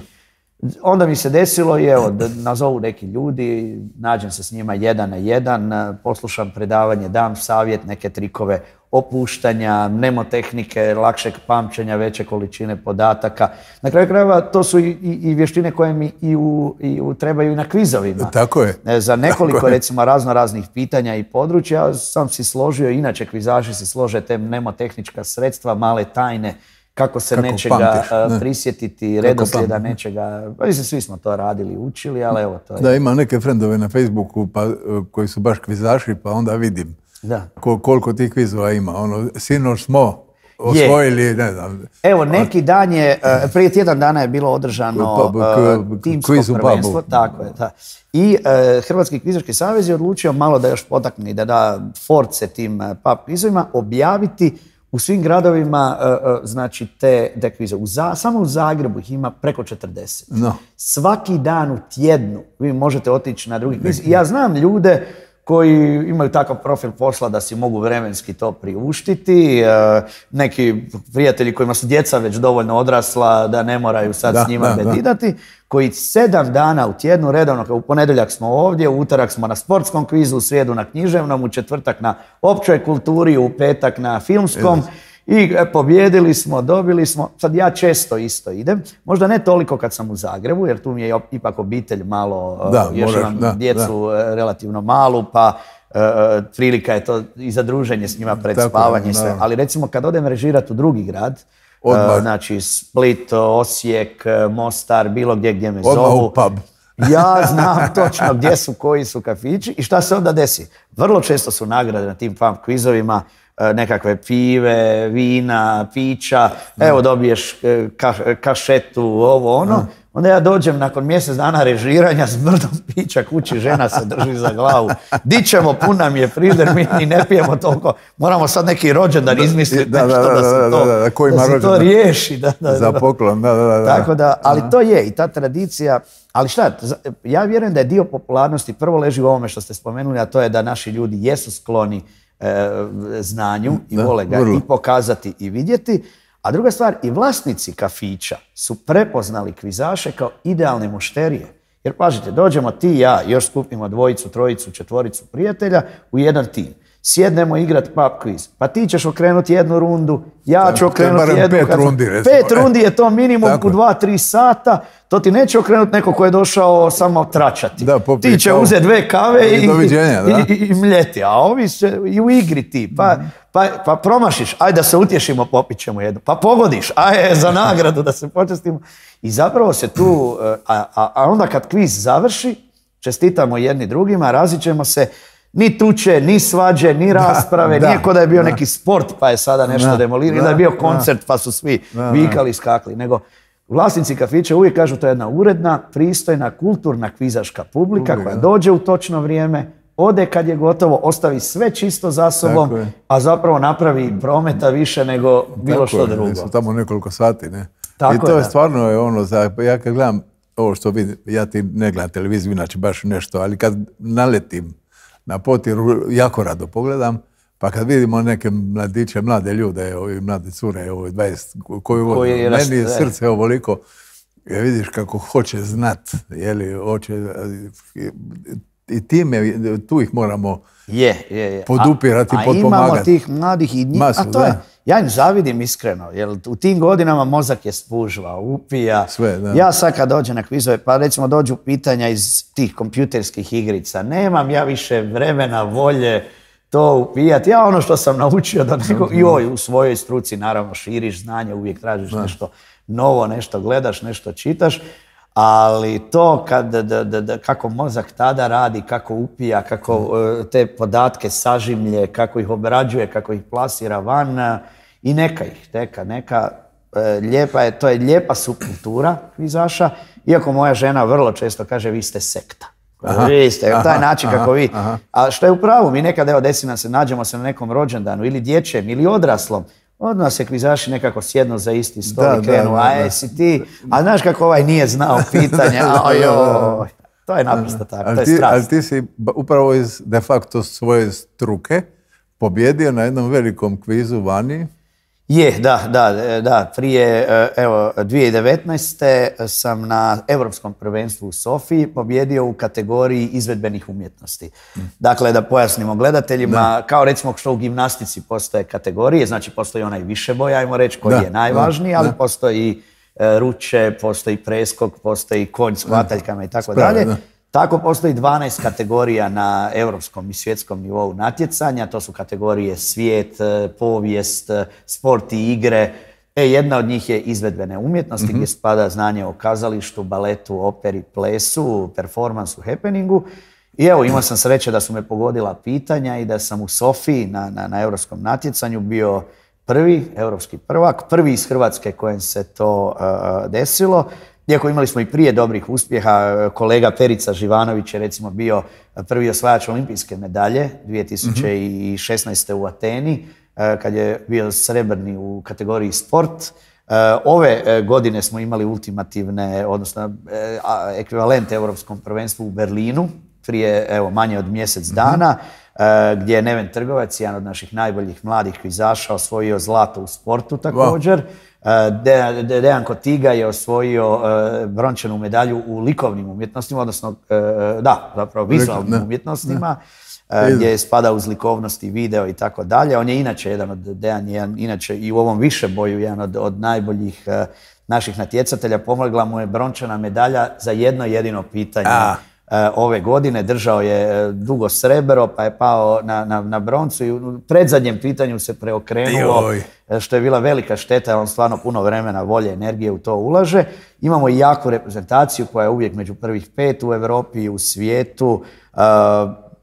Speaker 3: Onda mi se desilo i evo, da nazovu neki ljudi, nađem se s njima jedan na jedan, poslušam predavanje, dam savjet, neke trikove opuštanja, mnemotehnike, lakšeg pamćenja, veće količine podataka. Na kraju krajeva to su i, i, i vještine koje mi i u, i u, trebaju i na kvizovima.
Speaker 2: Tako je.
Speaker 3: Za nekoliko recimo razno raznih pitanja i područja sam si složio, inače kvizaši si slože te mnemotehnička sredstva, male tajne, kako se kako nečega pamtiš, ne. prisjetiti, redoslijeda nečega. Pa mislim, svi smo to radili, učili, ali evo to je.
Speaker 2: Da, ima neke frendove na Facebooku pa, koji su baš kvizaši, pa onda vidim
Speaker 3: da.
Speaker 2: Kol, koliko tih kvizova ima. Ono, sinoć smo osvojili, je. ne znam.
Speaker 3: Evo, neki dan je, prije tjedan dana je bilo održano uh, timsko prvenstvo. Tako je, da. I uh, Hrvatski kvizaški savez je odlučio malo da još potakne, da da force tim uh, pub kvizovima, objaviti u svim gradovima, uh, uh, znači, te, te kvize. U za, samo u Zagrebu ih ima preko četrdeset. No. Svaki dan u tjednu vi možete otići na drugi kviz. I ja znam ljude koji imaju takav profil posla da si mogu vremenski to priuštiti. Uh, neki prijatelji kojima su djeca već dovoljno odrasla da ne moraju sad da, s njima da, bedidati, da. koji sedam dana u tjednu redovno, u ponedjeljak smo ovdje, u utorak smo na sportskom kvizu, u srijedu na književnom, u četvrtak na općoj kulturi, u petak na filmskom. Yes. I pobjedili smo, dobili smo. Sad ja često isto idem. Možda ne toliko kad sam u Zagrebu, jer tu mi je ipak obitelj malo, da, još moraš, imam da, djecu da. relativno malu, pa uh, prilika je to i za druženje s njima pred Tako, spavanje i sve. Ali recimo kad odem režirati u drugi grad, uh, znači Split, Osijek, Mostar, bilo gdje gdje me Odmah zovu.
Speaker 2: U pub.
Speaker 3: Ja znam točno gdje su, koji su kafići i šta se onda desi. Vrlo često su nagrade na tim pub kvizovima, nekakve pive, vina, pića, evo dobiješ ka, kašetu, ovo ono. Onda ja dođem nakon mjesec dana režiranja s brdom pića kući, žena se drži za glavu. Di ćemo, pun nam je frižder, mi ni ne pijemo toliko. Moramo sad neki rođendan izmisliti da, nešto da, da, da se to, da, da, da, da se to riješi. Da, da,
Speaker 2: za poklon, da, da, da.
Speaker 3: Tako da, ali to je i ta tradicija. Ali šta, ja vjerujem da je dio popularnosti prvo leži u ovome što ste spomenuli, a to je da naši ljudi jesu skloni znanju i da, vole ga vrlo. i pokazati i vidjeti. A druga stvar, i vlasnici kafića su prepoznali kvizaše kao idealne mušterije. Jer pažite, dođemo ti i ja, još skupimo dvojicu, trojicu, četvoricu prijatelja u jedan tim. Sjednemo igrat pub quiz. Pa ti ćeš okrenuti jednu rundu, ja ću okrenuti jednu.
Speaker 2: Pet rundi, recimo.
Speaker 3: Pet rundi je to minimum u dva, tri sata. To ti neće okrenuti neko ko je došao samo tračati. Da, ti će kao... uzeti dve kave i, i, i, i mljeti. A ovi se i u igri ti. Pa, mm-hmm. pa, pa promašiš, ajde da se utješimo, popit ćemo jednu. Pa pogodiš, ajde za nagradu da se počestimo. I zapravo se tu, a, a, a onda kad kviz završi, čestitamo jedni drugima, razićemo se. Ni tuče, ni svađe, ni rasprave, da, nije ko da je bio da. neki sport pa je sada nešto demolirano, da je bio koncert da. pa su svi da, vikali i skakli, nego Vlasnici kafića uvijek kažu to je jedna uredna, pristojna, kulturna kvizaška publika koja dođe u točno vrijeme, ode kad je gotovo, ostavi sve čisto za sobom, a zapravo napravi prometa više nego bilo
Speaker 2: tako
Speaker 3: što
Speaker 2: je,
Speaker 3: drugo.
Speaker 2: Su tamo nekoliko sati, ne?
Speaker 3: Tako
Speaker 2: I to
Speaker 3: je,
Speaker 2: je
Speaker 3: da.
Speaker 2: stvarno je ono, za, ja kad gledam ovo što vidim, ja ti ne gledam televiziju, inače baš nešto, ali kad naletim na Potiru, jako rado pogledam, pa kad vidimo neke mladiće, mlade ljude, ovi mlade cure, ovi dvadeset, koju vole,
Speaker 3: Koji
Speaker 2: meni je
Speaker 3: rast-
Speaker 2: srce ovoliko, ja vidiš kako hoće znat, jeli, hoće, i time, tu ih moramo
Speaker 3: Je, je, je.
Speaker 2: podupirati,
Speaker 3: a, a
Speaker 2: potpomagati.
Speaker 3: imamo tih mladih i njih,
Speaker 2: Masu,
Speaker 3: a to je,
Speaker 2: da.
Speaker 3: ja im zavidim iskreno, jer u tim godinama mozak je spužva, upija.
Speaker 2: Sve, da.
Speaker 3: Ja sad kad dođem na kvizove, pa recimo dođu pitanja iz tih kompjuterskih igrica, nemam ja više vremena, volje to upijati. Ja ono što sam naučio da neko, joj, u svojoj struci naravno širiš znanje, uvijek tražiš nešto novo, nešto gledaš, nešto čitaš. Ali to kad, da, da, da, kako mozak tada radi, kako upija, kako uh, te podatke sažimlje, kako ih obrađuje, kako ih plasira van uh, i neka ih, neka, neka, uh, lijepa je, to je lijepa subkultura kvizaša, iako moja žena vrlo često kaže vi ste sekta. Aha, vi ste, aha, taj način aha, kako vi. Aha. A što je u pravu, mi nekad, evo desi nam se, nađemo se na nekom rođendanu ili dječjem ili odraslom, odmah se kvizaši nekako sjednu za isti stol i krenu, a jesi ti, a znaš kako ovaj nije znao pitanja, ojoj, to je naprosto tako,
Speaker 2: ali
Speaker 3: to je
Speaker 2: ti,
Speaker 3: strast.
Speaker 2: ali ti si upravo iz de facto svoje struke pobjedio na jednom velikom kvizu vani.
Speaker 3: Je, da, da, da, prije, evo, dvije tisuće devetnaeste. sam na Europskom prvenstvu u Sofiji pobjedio u kategoriji izvedbenih umjetnosti. Dakle, da pojasnimo gledateljima, da. Kao recimo što u gimnastici postoje kategorije, znači postoji onaj višeboj, ajmo reći, koji da, je najvažniji, da, ali da. Postoji ruče, postoji preskok, postoji konj s hvataljkama i tako dalje. Tako postoji dvanaest kategorija na europskom i svjetskom nivou natjecanja. To su kategorije svijet, povijest, sport i igre. E, jedna od njih je izvedbene umjetnosti, mm-hmm. gdje spada znanje o kazalištu, baletu, operi, plesu, performansu, happeningu. I evo, imao sam sreće da su me pogodila pitanja i da sam u Sofiji na, na, na europskom natjecanju bio prvi, europski prvak, prvi iz Hrvatske kojem se to uh, desilo. Iako imali smo i prije dobrih uspjeha, kolega Perica Živanović je recimo bio prvi osvajač olimpijske medalje dvije tisuće šesnaeste. u Ateni, kad je bio srebrni u kategoriji sport. Ove godine smo imali ultimativne, odnosno ekvivalent Europskom prvenstvu u Berlinu, prije evo, manje od mjesec dana, gdje je Neven Trgovac, jedan od naših najboljih mladih kvizaša, osvojio zlato u sportu također. Wow. De, De, Dejan Kotiga je osvojio uh, brončanu medalju u likovnim umjetnostima, odnosno, uh, da, zapravo vizualnim ne, umjetnostima, ne. Uh, gdje spada uz likovnost i video i tako dalje. On je inače jedan od, Dejan je inače i u ovom višeboju jedan od, od najboljih uh, naših natjecatelja. Pomogla mu je brončana medalja za jedno jedino pitanje. A. Ove godine držao je dugo srebro, pa je pao na, na, na broncu i u predzadnjem pitanju se preokrenulo, Joj. Što je bila velika šteta, on stvarno puno vremena, volje, energije u to ulaže. Imamo i jaku reprezentaciju koja je uvijek među prvih pet u Europi i u svijetu. Uh,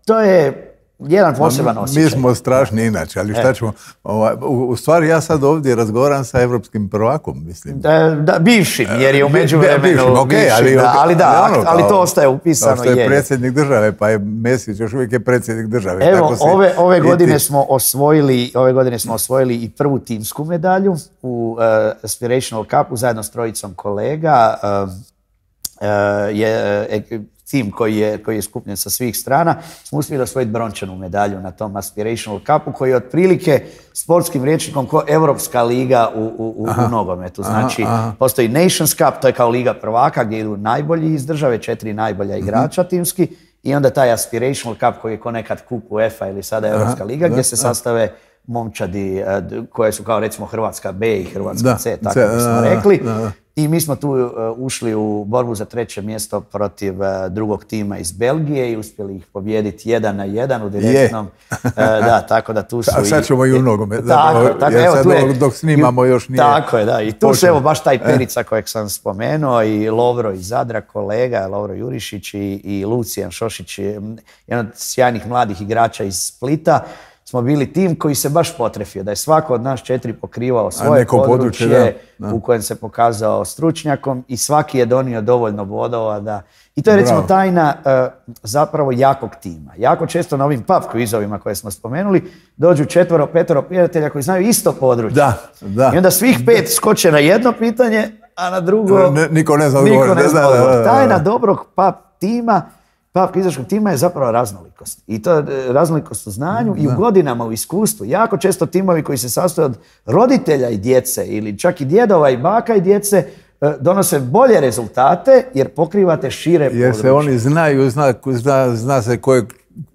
Speaker 3: to je jedan poseban osjećaj.
Speaker 2: Mi smo strašni inače, ali šta ćemo... Ovaj, u, u stvari ja sad ovdje razgovaram sa evropskim prvakom, mislim.
Speaker 3: Da, da, bivšim, jer je u međuvremenu... Bivšim,
Speaker 2: okay,
Speaker 3: bivšim,
Speaker 2: ali,
Speaker 3: da, ali da,
Speaker 2: ali, ono,
Speaker 3: ali to ostaje upisano.
Speaker 2: Kao što je, je predsjednik države, pa je Mesić još uvijek je predsjednik države.
Speaker 3: Evo,
Speaker 2: tako se,
Speaker 3: ove, ove, godine smo osvojili, ove godine smo osvojili i prvu timsku medalju u uh, Aspirational Cupu zajedno s trojicom kolega. Uh, uh, je... Uh, tim koji je, koji je skupljen sa svih strana, smo uspjeli osvojiti brončanu medalju na tom Aspirational Cupu, koji je otprilike sportskim rječnikom ko Europska liga u, u, u, u nogometu. Znači, aha, aha. Postoji Nations Cup, to je kao liga prvaka gdje idu najbolji iz države, četiri najbolja igrača mm-hmm. timski, i onda taj Aspirational Cup koji je ko nekad kup UEFA ili sada Europska liga, aha, gdje se sastave momčadi koje su kao recimo Hrvatska B i Hrvatska da, C, tako C, bismo rekli. Da, da. I mi smo tu uh, ušli u borbu za treće mjesto protiv uh, drugog tima iz Belgije i uspjeli ih pobijediti jedan na jedan u direktnom. uh, da, tako da tu su...
Speaker 2: A sad ćemo i, i u nogomet.
Speaker 3: Tako, tako, evo,
Speaker 2: sad
Speaker 3: tu je,
Speaker 2: dok snimamo još nije...
Speaker 3: Tako je, da. I tu su evo baš taj Perica kojeg sam spomenuo i Lovro iz Zadra, kolega, Lovro Jurišić i, i Lucijan Šošić, jedan od sjajnih mladih igrača iz Splita. smo bili tim koji se baš potrefio, da je svako od nas četiri pokrivao svoje
Speaker 2: neko područje,
Speaker 3: područje
Speaker 2: da, da.
Speaker 3: u kojem se pokazao stručnjakom i svaki je donio dovoljno bodova da... I to je recimo
Speaker 2: Bravo.
Speaker 3: tajna uh, zapravo jakog tima. Jako često na ovim pub quizovima koje smo spomenuli dođu četvoro, petoro prijatelja koji znaju isto područje.
Speaker 2: Da, da.
Speaker 3: I onda svih pet skoče na jedno pitanje, a na drugo...
Speaker 2: Ne, niko ne zna
Speaker 3: niko
Speaker 2: odgovor.
Speaker 3: ne zna
Speaker 2: Da, da, da,
Speaker 3: odgovor.
Speaker 2: da.
Speaker 3: Tajna dobrog pub tima, pub kvizaškog tima je zapravo raznolikost. I to je e, raznolikost u znanju i u godinama, u iskustvu. Jako često timovi koji se sastoje od roditelja i djece ili čak i djedova i baka i djece e, donose bolje rezultate jer pokrivate šire
Speaker 2: Jer
Speaker 3: područje.
Speaker 2: se oni znaju, zna, zna, zna se kojeg,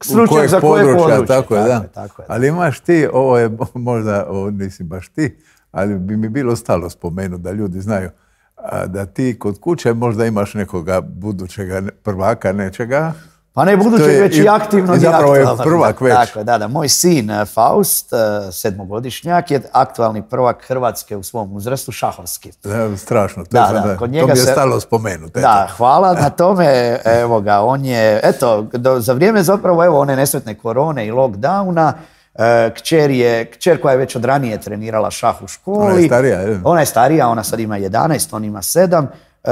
Speaker 3: Stručnjak
Speaker 2: kojeg
Speaker 3: za koje
Speaker 2: područja,
Speaker 3: područje.
Speaker 2: tako je,
Speaker 3: Tako
Speaker 2: da.
Speaker 3: je, tako je.
Speaker 2: Ali imaš ti, ovo je možda, ovo nisi baš ti, ali bi mi bilo stalo spomenuti da ljudi znaju a, da ti kod kuće možda imaš nekoga budućega prvaka nečega.
Speaker 3: Pa ne buduće,
Speaker 2: To je
Speaker 3: već i,
Speaker 2: i-
Speaker 3: aktivno
Speaker 2: i zapravo je
Speaker 3: aktualno.
Speaker 2: prvak već.
Speaker 3: Tako je, da, da. Moj sin eh, Faust, eh, sedmogodišnjak, je aktualni prvak Hrvatske u svom uzrastu, šahovski.
Speaker 2: Da, strašno, to,
Speaker 3: Da,
Speaker 2: sam,
Speaker 3: da,
Speaker 2: da,
Speaker 3: kod
Speaker 2: to
Speaker 3: njega
Speaker 2: mi je
Speaker 3: se-
Speaker 2: stalo spomenuti.
Speaker 3: Da, hvala na tome, evo ga, on je, eto, do, za vrijeme zapravo, evo, one nesretne korone i lockdowna, e, kćer je, kćer koja je već od ranije trenirala šah u školi.
Speaker 2: Ona je starija, je?
Speaker 3: Ona je starija, ona sad ima jedanaest, on ima sedam. E,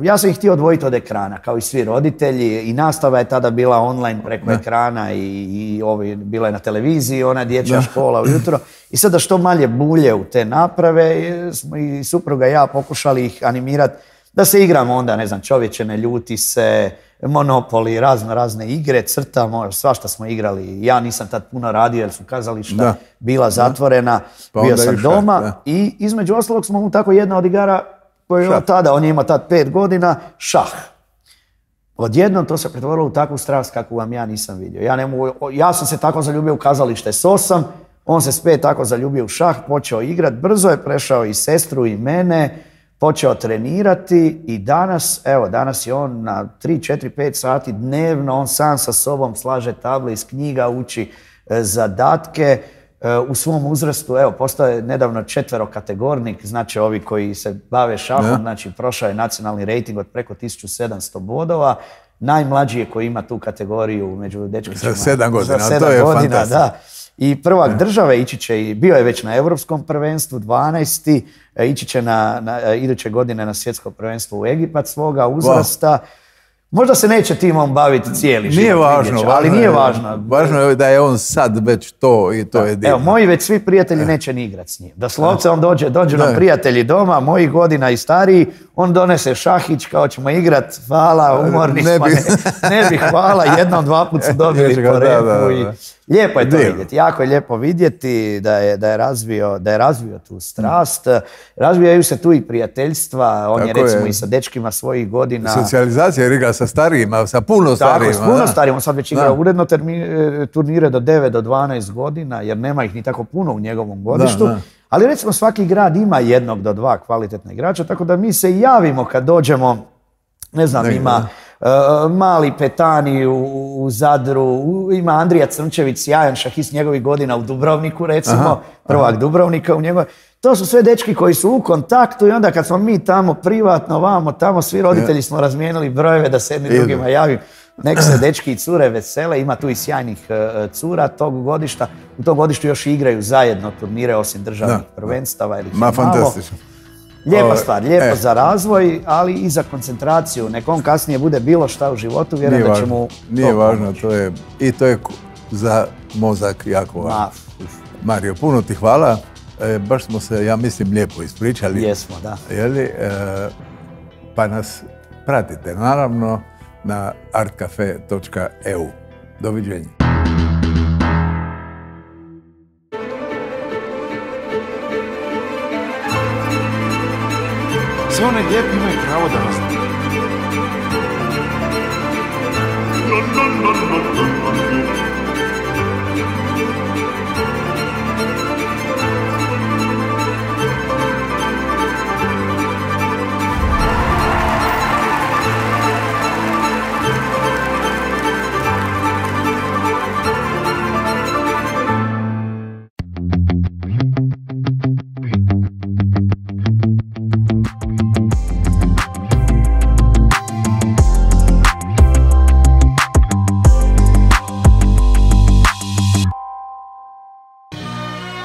Speaker 3: ja sam ih htio odvojiti od ekrana, kao i svi roditelji, i nastava je tada bila online preko ekrana i, i ovi, bila je na televiziji, ona dječja škola ujutro. I sad da što manje bulje u te naprave, smo i supruga i ja pokušali ih animirati da se igramo onda, ne znam, čovječe ne ljuti se, Monopoli, razno razne igre, crtamo, svašta smo igrali. Ja nisam tad puno radio jer su kazališta
Speaker 2: Da.
Speaker 3: bila zatvorena,
Speaker 2: Pa
Speaker 3: bio
Speaker 2: onda
Speaker 3: sam
Speaker 2: i šah,
Speaker 3: doma
Speaker 2: da.
Speaker 3: i između ostalog smo mu tako jedna od igara koju je on
Speaker 2: Šah.
Speaker 3: tada, on je imao tad pet godina, šah. Odjednom to se pretvorilo u takvu strast kakvu vam ja nisam vidio. Ja, ne mogu, ja sam se tako zaljubio u kazalište s osam, on se s pet tako zaljubio u šah, počeo igrat, brzo je prešao i sestru i mene, počeo trenirati i danas, evo, danas je on na tri, četiri, pet sati dnevno, on sam sa sobom slaže table iz knjiga, uči e, zadatke. E, u svom uzrastu, evo, postao je nedavno četverokategornik, znači ovi koji se bave šahom,
Speaker 2: Ja.
Speaker 3: znači prošao je nacionalni rejting od preko tisuću sedamsto bodova. Najmlađi je koji ima tu kategoriju među dečkićima.
Speaker 2: Za sedam godina,
Speaker 3: Za
Speaker 2: to
Speaker 3: sedam
Speaker 2: je
Speaker 3: godina,
Speaker 2: fantastično.
Speaker 3: da. I prvak države ići će, i bio je već na Europskom prvenstvu, dvanaesti, e, ići će na, na, e, iduće godine na svjetsko prvenstvo u Egipat svoga uzrasta. Možda se neće timom baviti cijeli život.
Speaker 2: Nije važno,
Speaker 3: vidjet će,
Speaker 2: važno
Speaker 3: ali nije
Speaker 2: je-
Speaker 3: važno.
Speaker 2: Važno je da je on sad već to i to je divno.
Speaker 3: Evo, moji već svi prijatelji neće ni igrat s njim. Doslovce on dođe, dođu nam
Speaker 2: Da.
Speaker 3: prijatelji doma, mojih godina i stariji, on donese šahić kao ćemo igrat, hvala, umorni
Speaker 2: Ne
Speaker 3: smo,
Speaker 2: bi.
Speaker 3: ne, ne bi hvala, jednom, dva put su dobili
Speaker 2: Ježi ga,
Speaker 3: po
Speaker 2: da,
Speaker 3: repu
Speaker 2: da, da.
Speaker 3: i lijepo je to
Speaker 2: Divno.
Speaker 3: vidjeti, jako je lijepo vidjeti da je, da je, razvio, da je razvio tu strast, razvijaju se tu i prijateljstva, on je
Speaker 2: Tako
Speaker 3: recimo
Speaker 2: je.
Speaker 3: i sa dečkima svojih godina.
Speaker 2: Socijalizacija jer igra sa starijima, sa puno
Speaker 3: Tako,
Speaker 2: starijima.
Speaker 3: s puno
Speaker 2: da.
Speaker 3: starijim, on sad već igra
Speaker 2: Da.
Speaker 3: uredno termi- e, turnire do devet do dvanaest godina, jer nema ih ni tako puno u njegovom godištu.
Speaker 2: da.
Speaker 3: Ali recimo svaki grad ima jednog do dva kvalitetna igrača, tako da mi se javimo kad dođemo, ne znam,
Speaker 2: Negdje,
Speaker 3: ima e, Mali Petani u, u Zadru, u- ima Andrija Crnčević, sjajan šahist njegovih godina u Dubrovniku, recimo,
Speaker 2: Aha,
Speaker 3: prvak Dubrovnika u njegov. To su sve dečki koji su u kontaktu i onda kad smo mi tamo privatno, vamo, tamo, svi roditelji smo razmijenili brojeve da se jedni
Speaker 2: Idu.
Speaker 3: drugima javim. Nek se dečki i cure vesele, ima tu i sjajnih e, cura tog godišta. U tom godištu još i igraju zajedno turnire osim državnih
Speaker 2: Da.
Speaker 3: prvenstava. Ili ih je
Speaker 2: Ma,
Speaker 3: malo.
Speaker 2: fantastično.
Speaker 3: Lijepa
Speaker 2: Ovo,
Speaker 3: stvar, lijepo
Speaker 2: e.
Speaker 3: za razvoj, ali i za koncentraciju. Nek on kasnije bude bilo šta u životu,
Speaker 2: Nije
Speaker 3: vjerujem da će
Speaker 2: važno,
Speaker 3: mu
Speaker 2: nije
Speaker 3: to
Speaker 2: važno,
Speaker 3: pomoći.
Speaker 2: to je, i to je ku- za mozak jako važno.
Speaker 3: Ma,
Speaker 2: Mario, puno ti hvala. E, baš smo se, ja mislim, lijepo ispričali.
Speaker 3: jesmo, da.
Speaker 2: Jeli, e, pa nas pratite, naravno, na artcafe točka e u. Doviđenja.
Speaker 4: Sve one lijepi imaju pravo da nas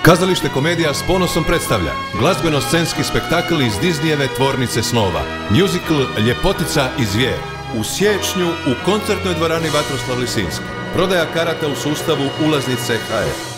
Speaker 1: Kazalište Komedija s ponosom predstavlja glazbeno-scenski spektakl iz Disneyjeve tvornice snova, musical Ljepotica i zvijer, u siječnju u koncertnoj dvorani Vatroslav Lisinski. Prodaja karata u sustavu ulaznice H F.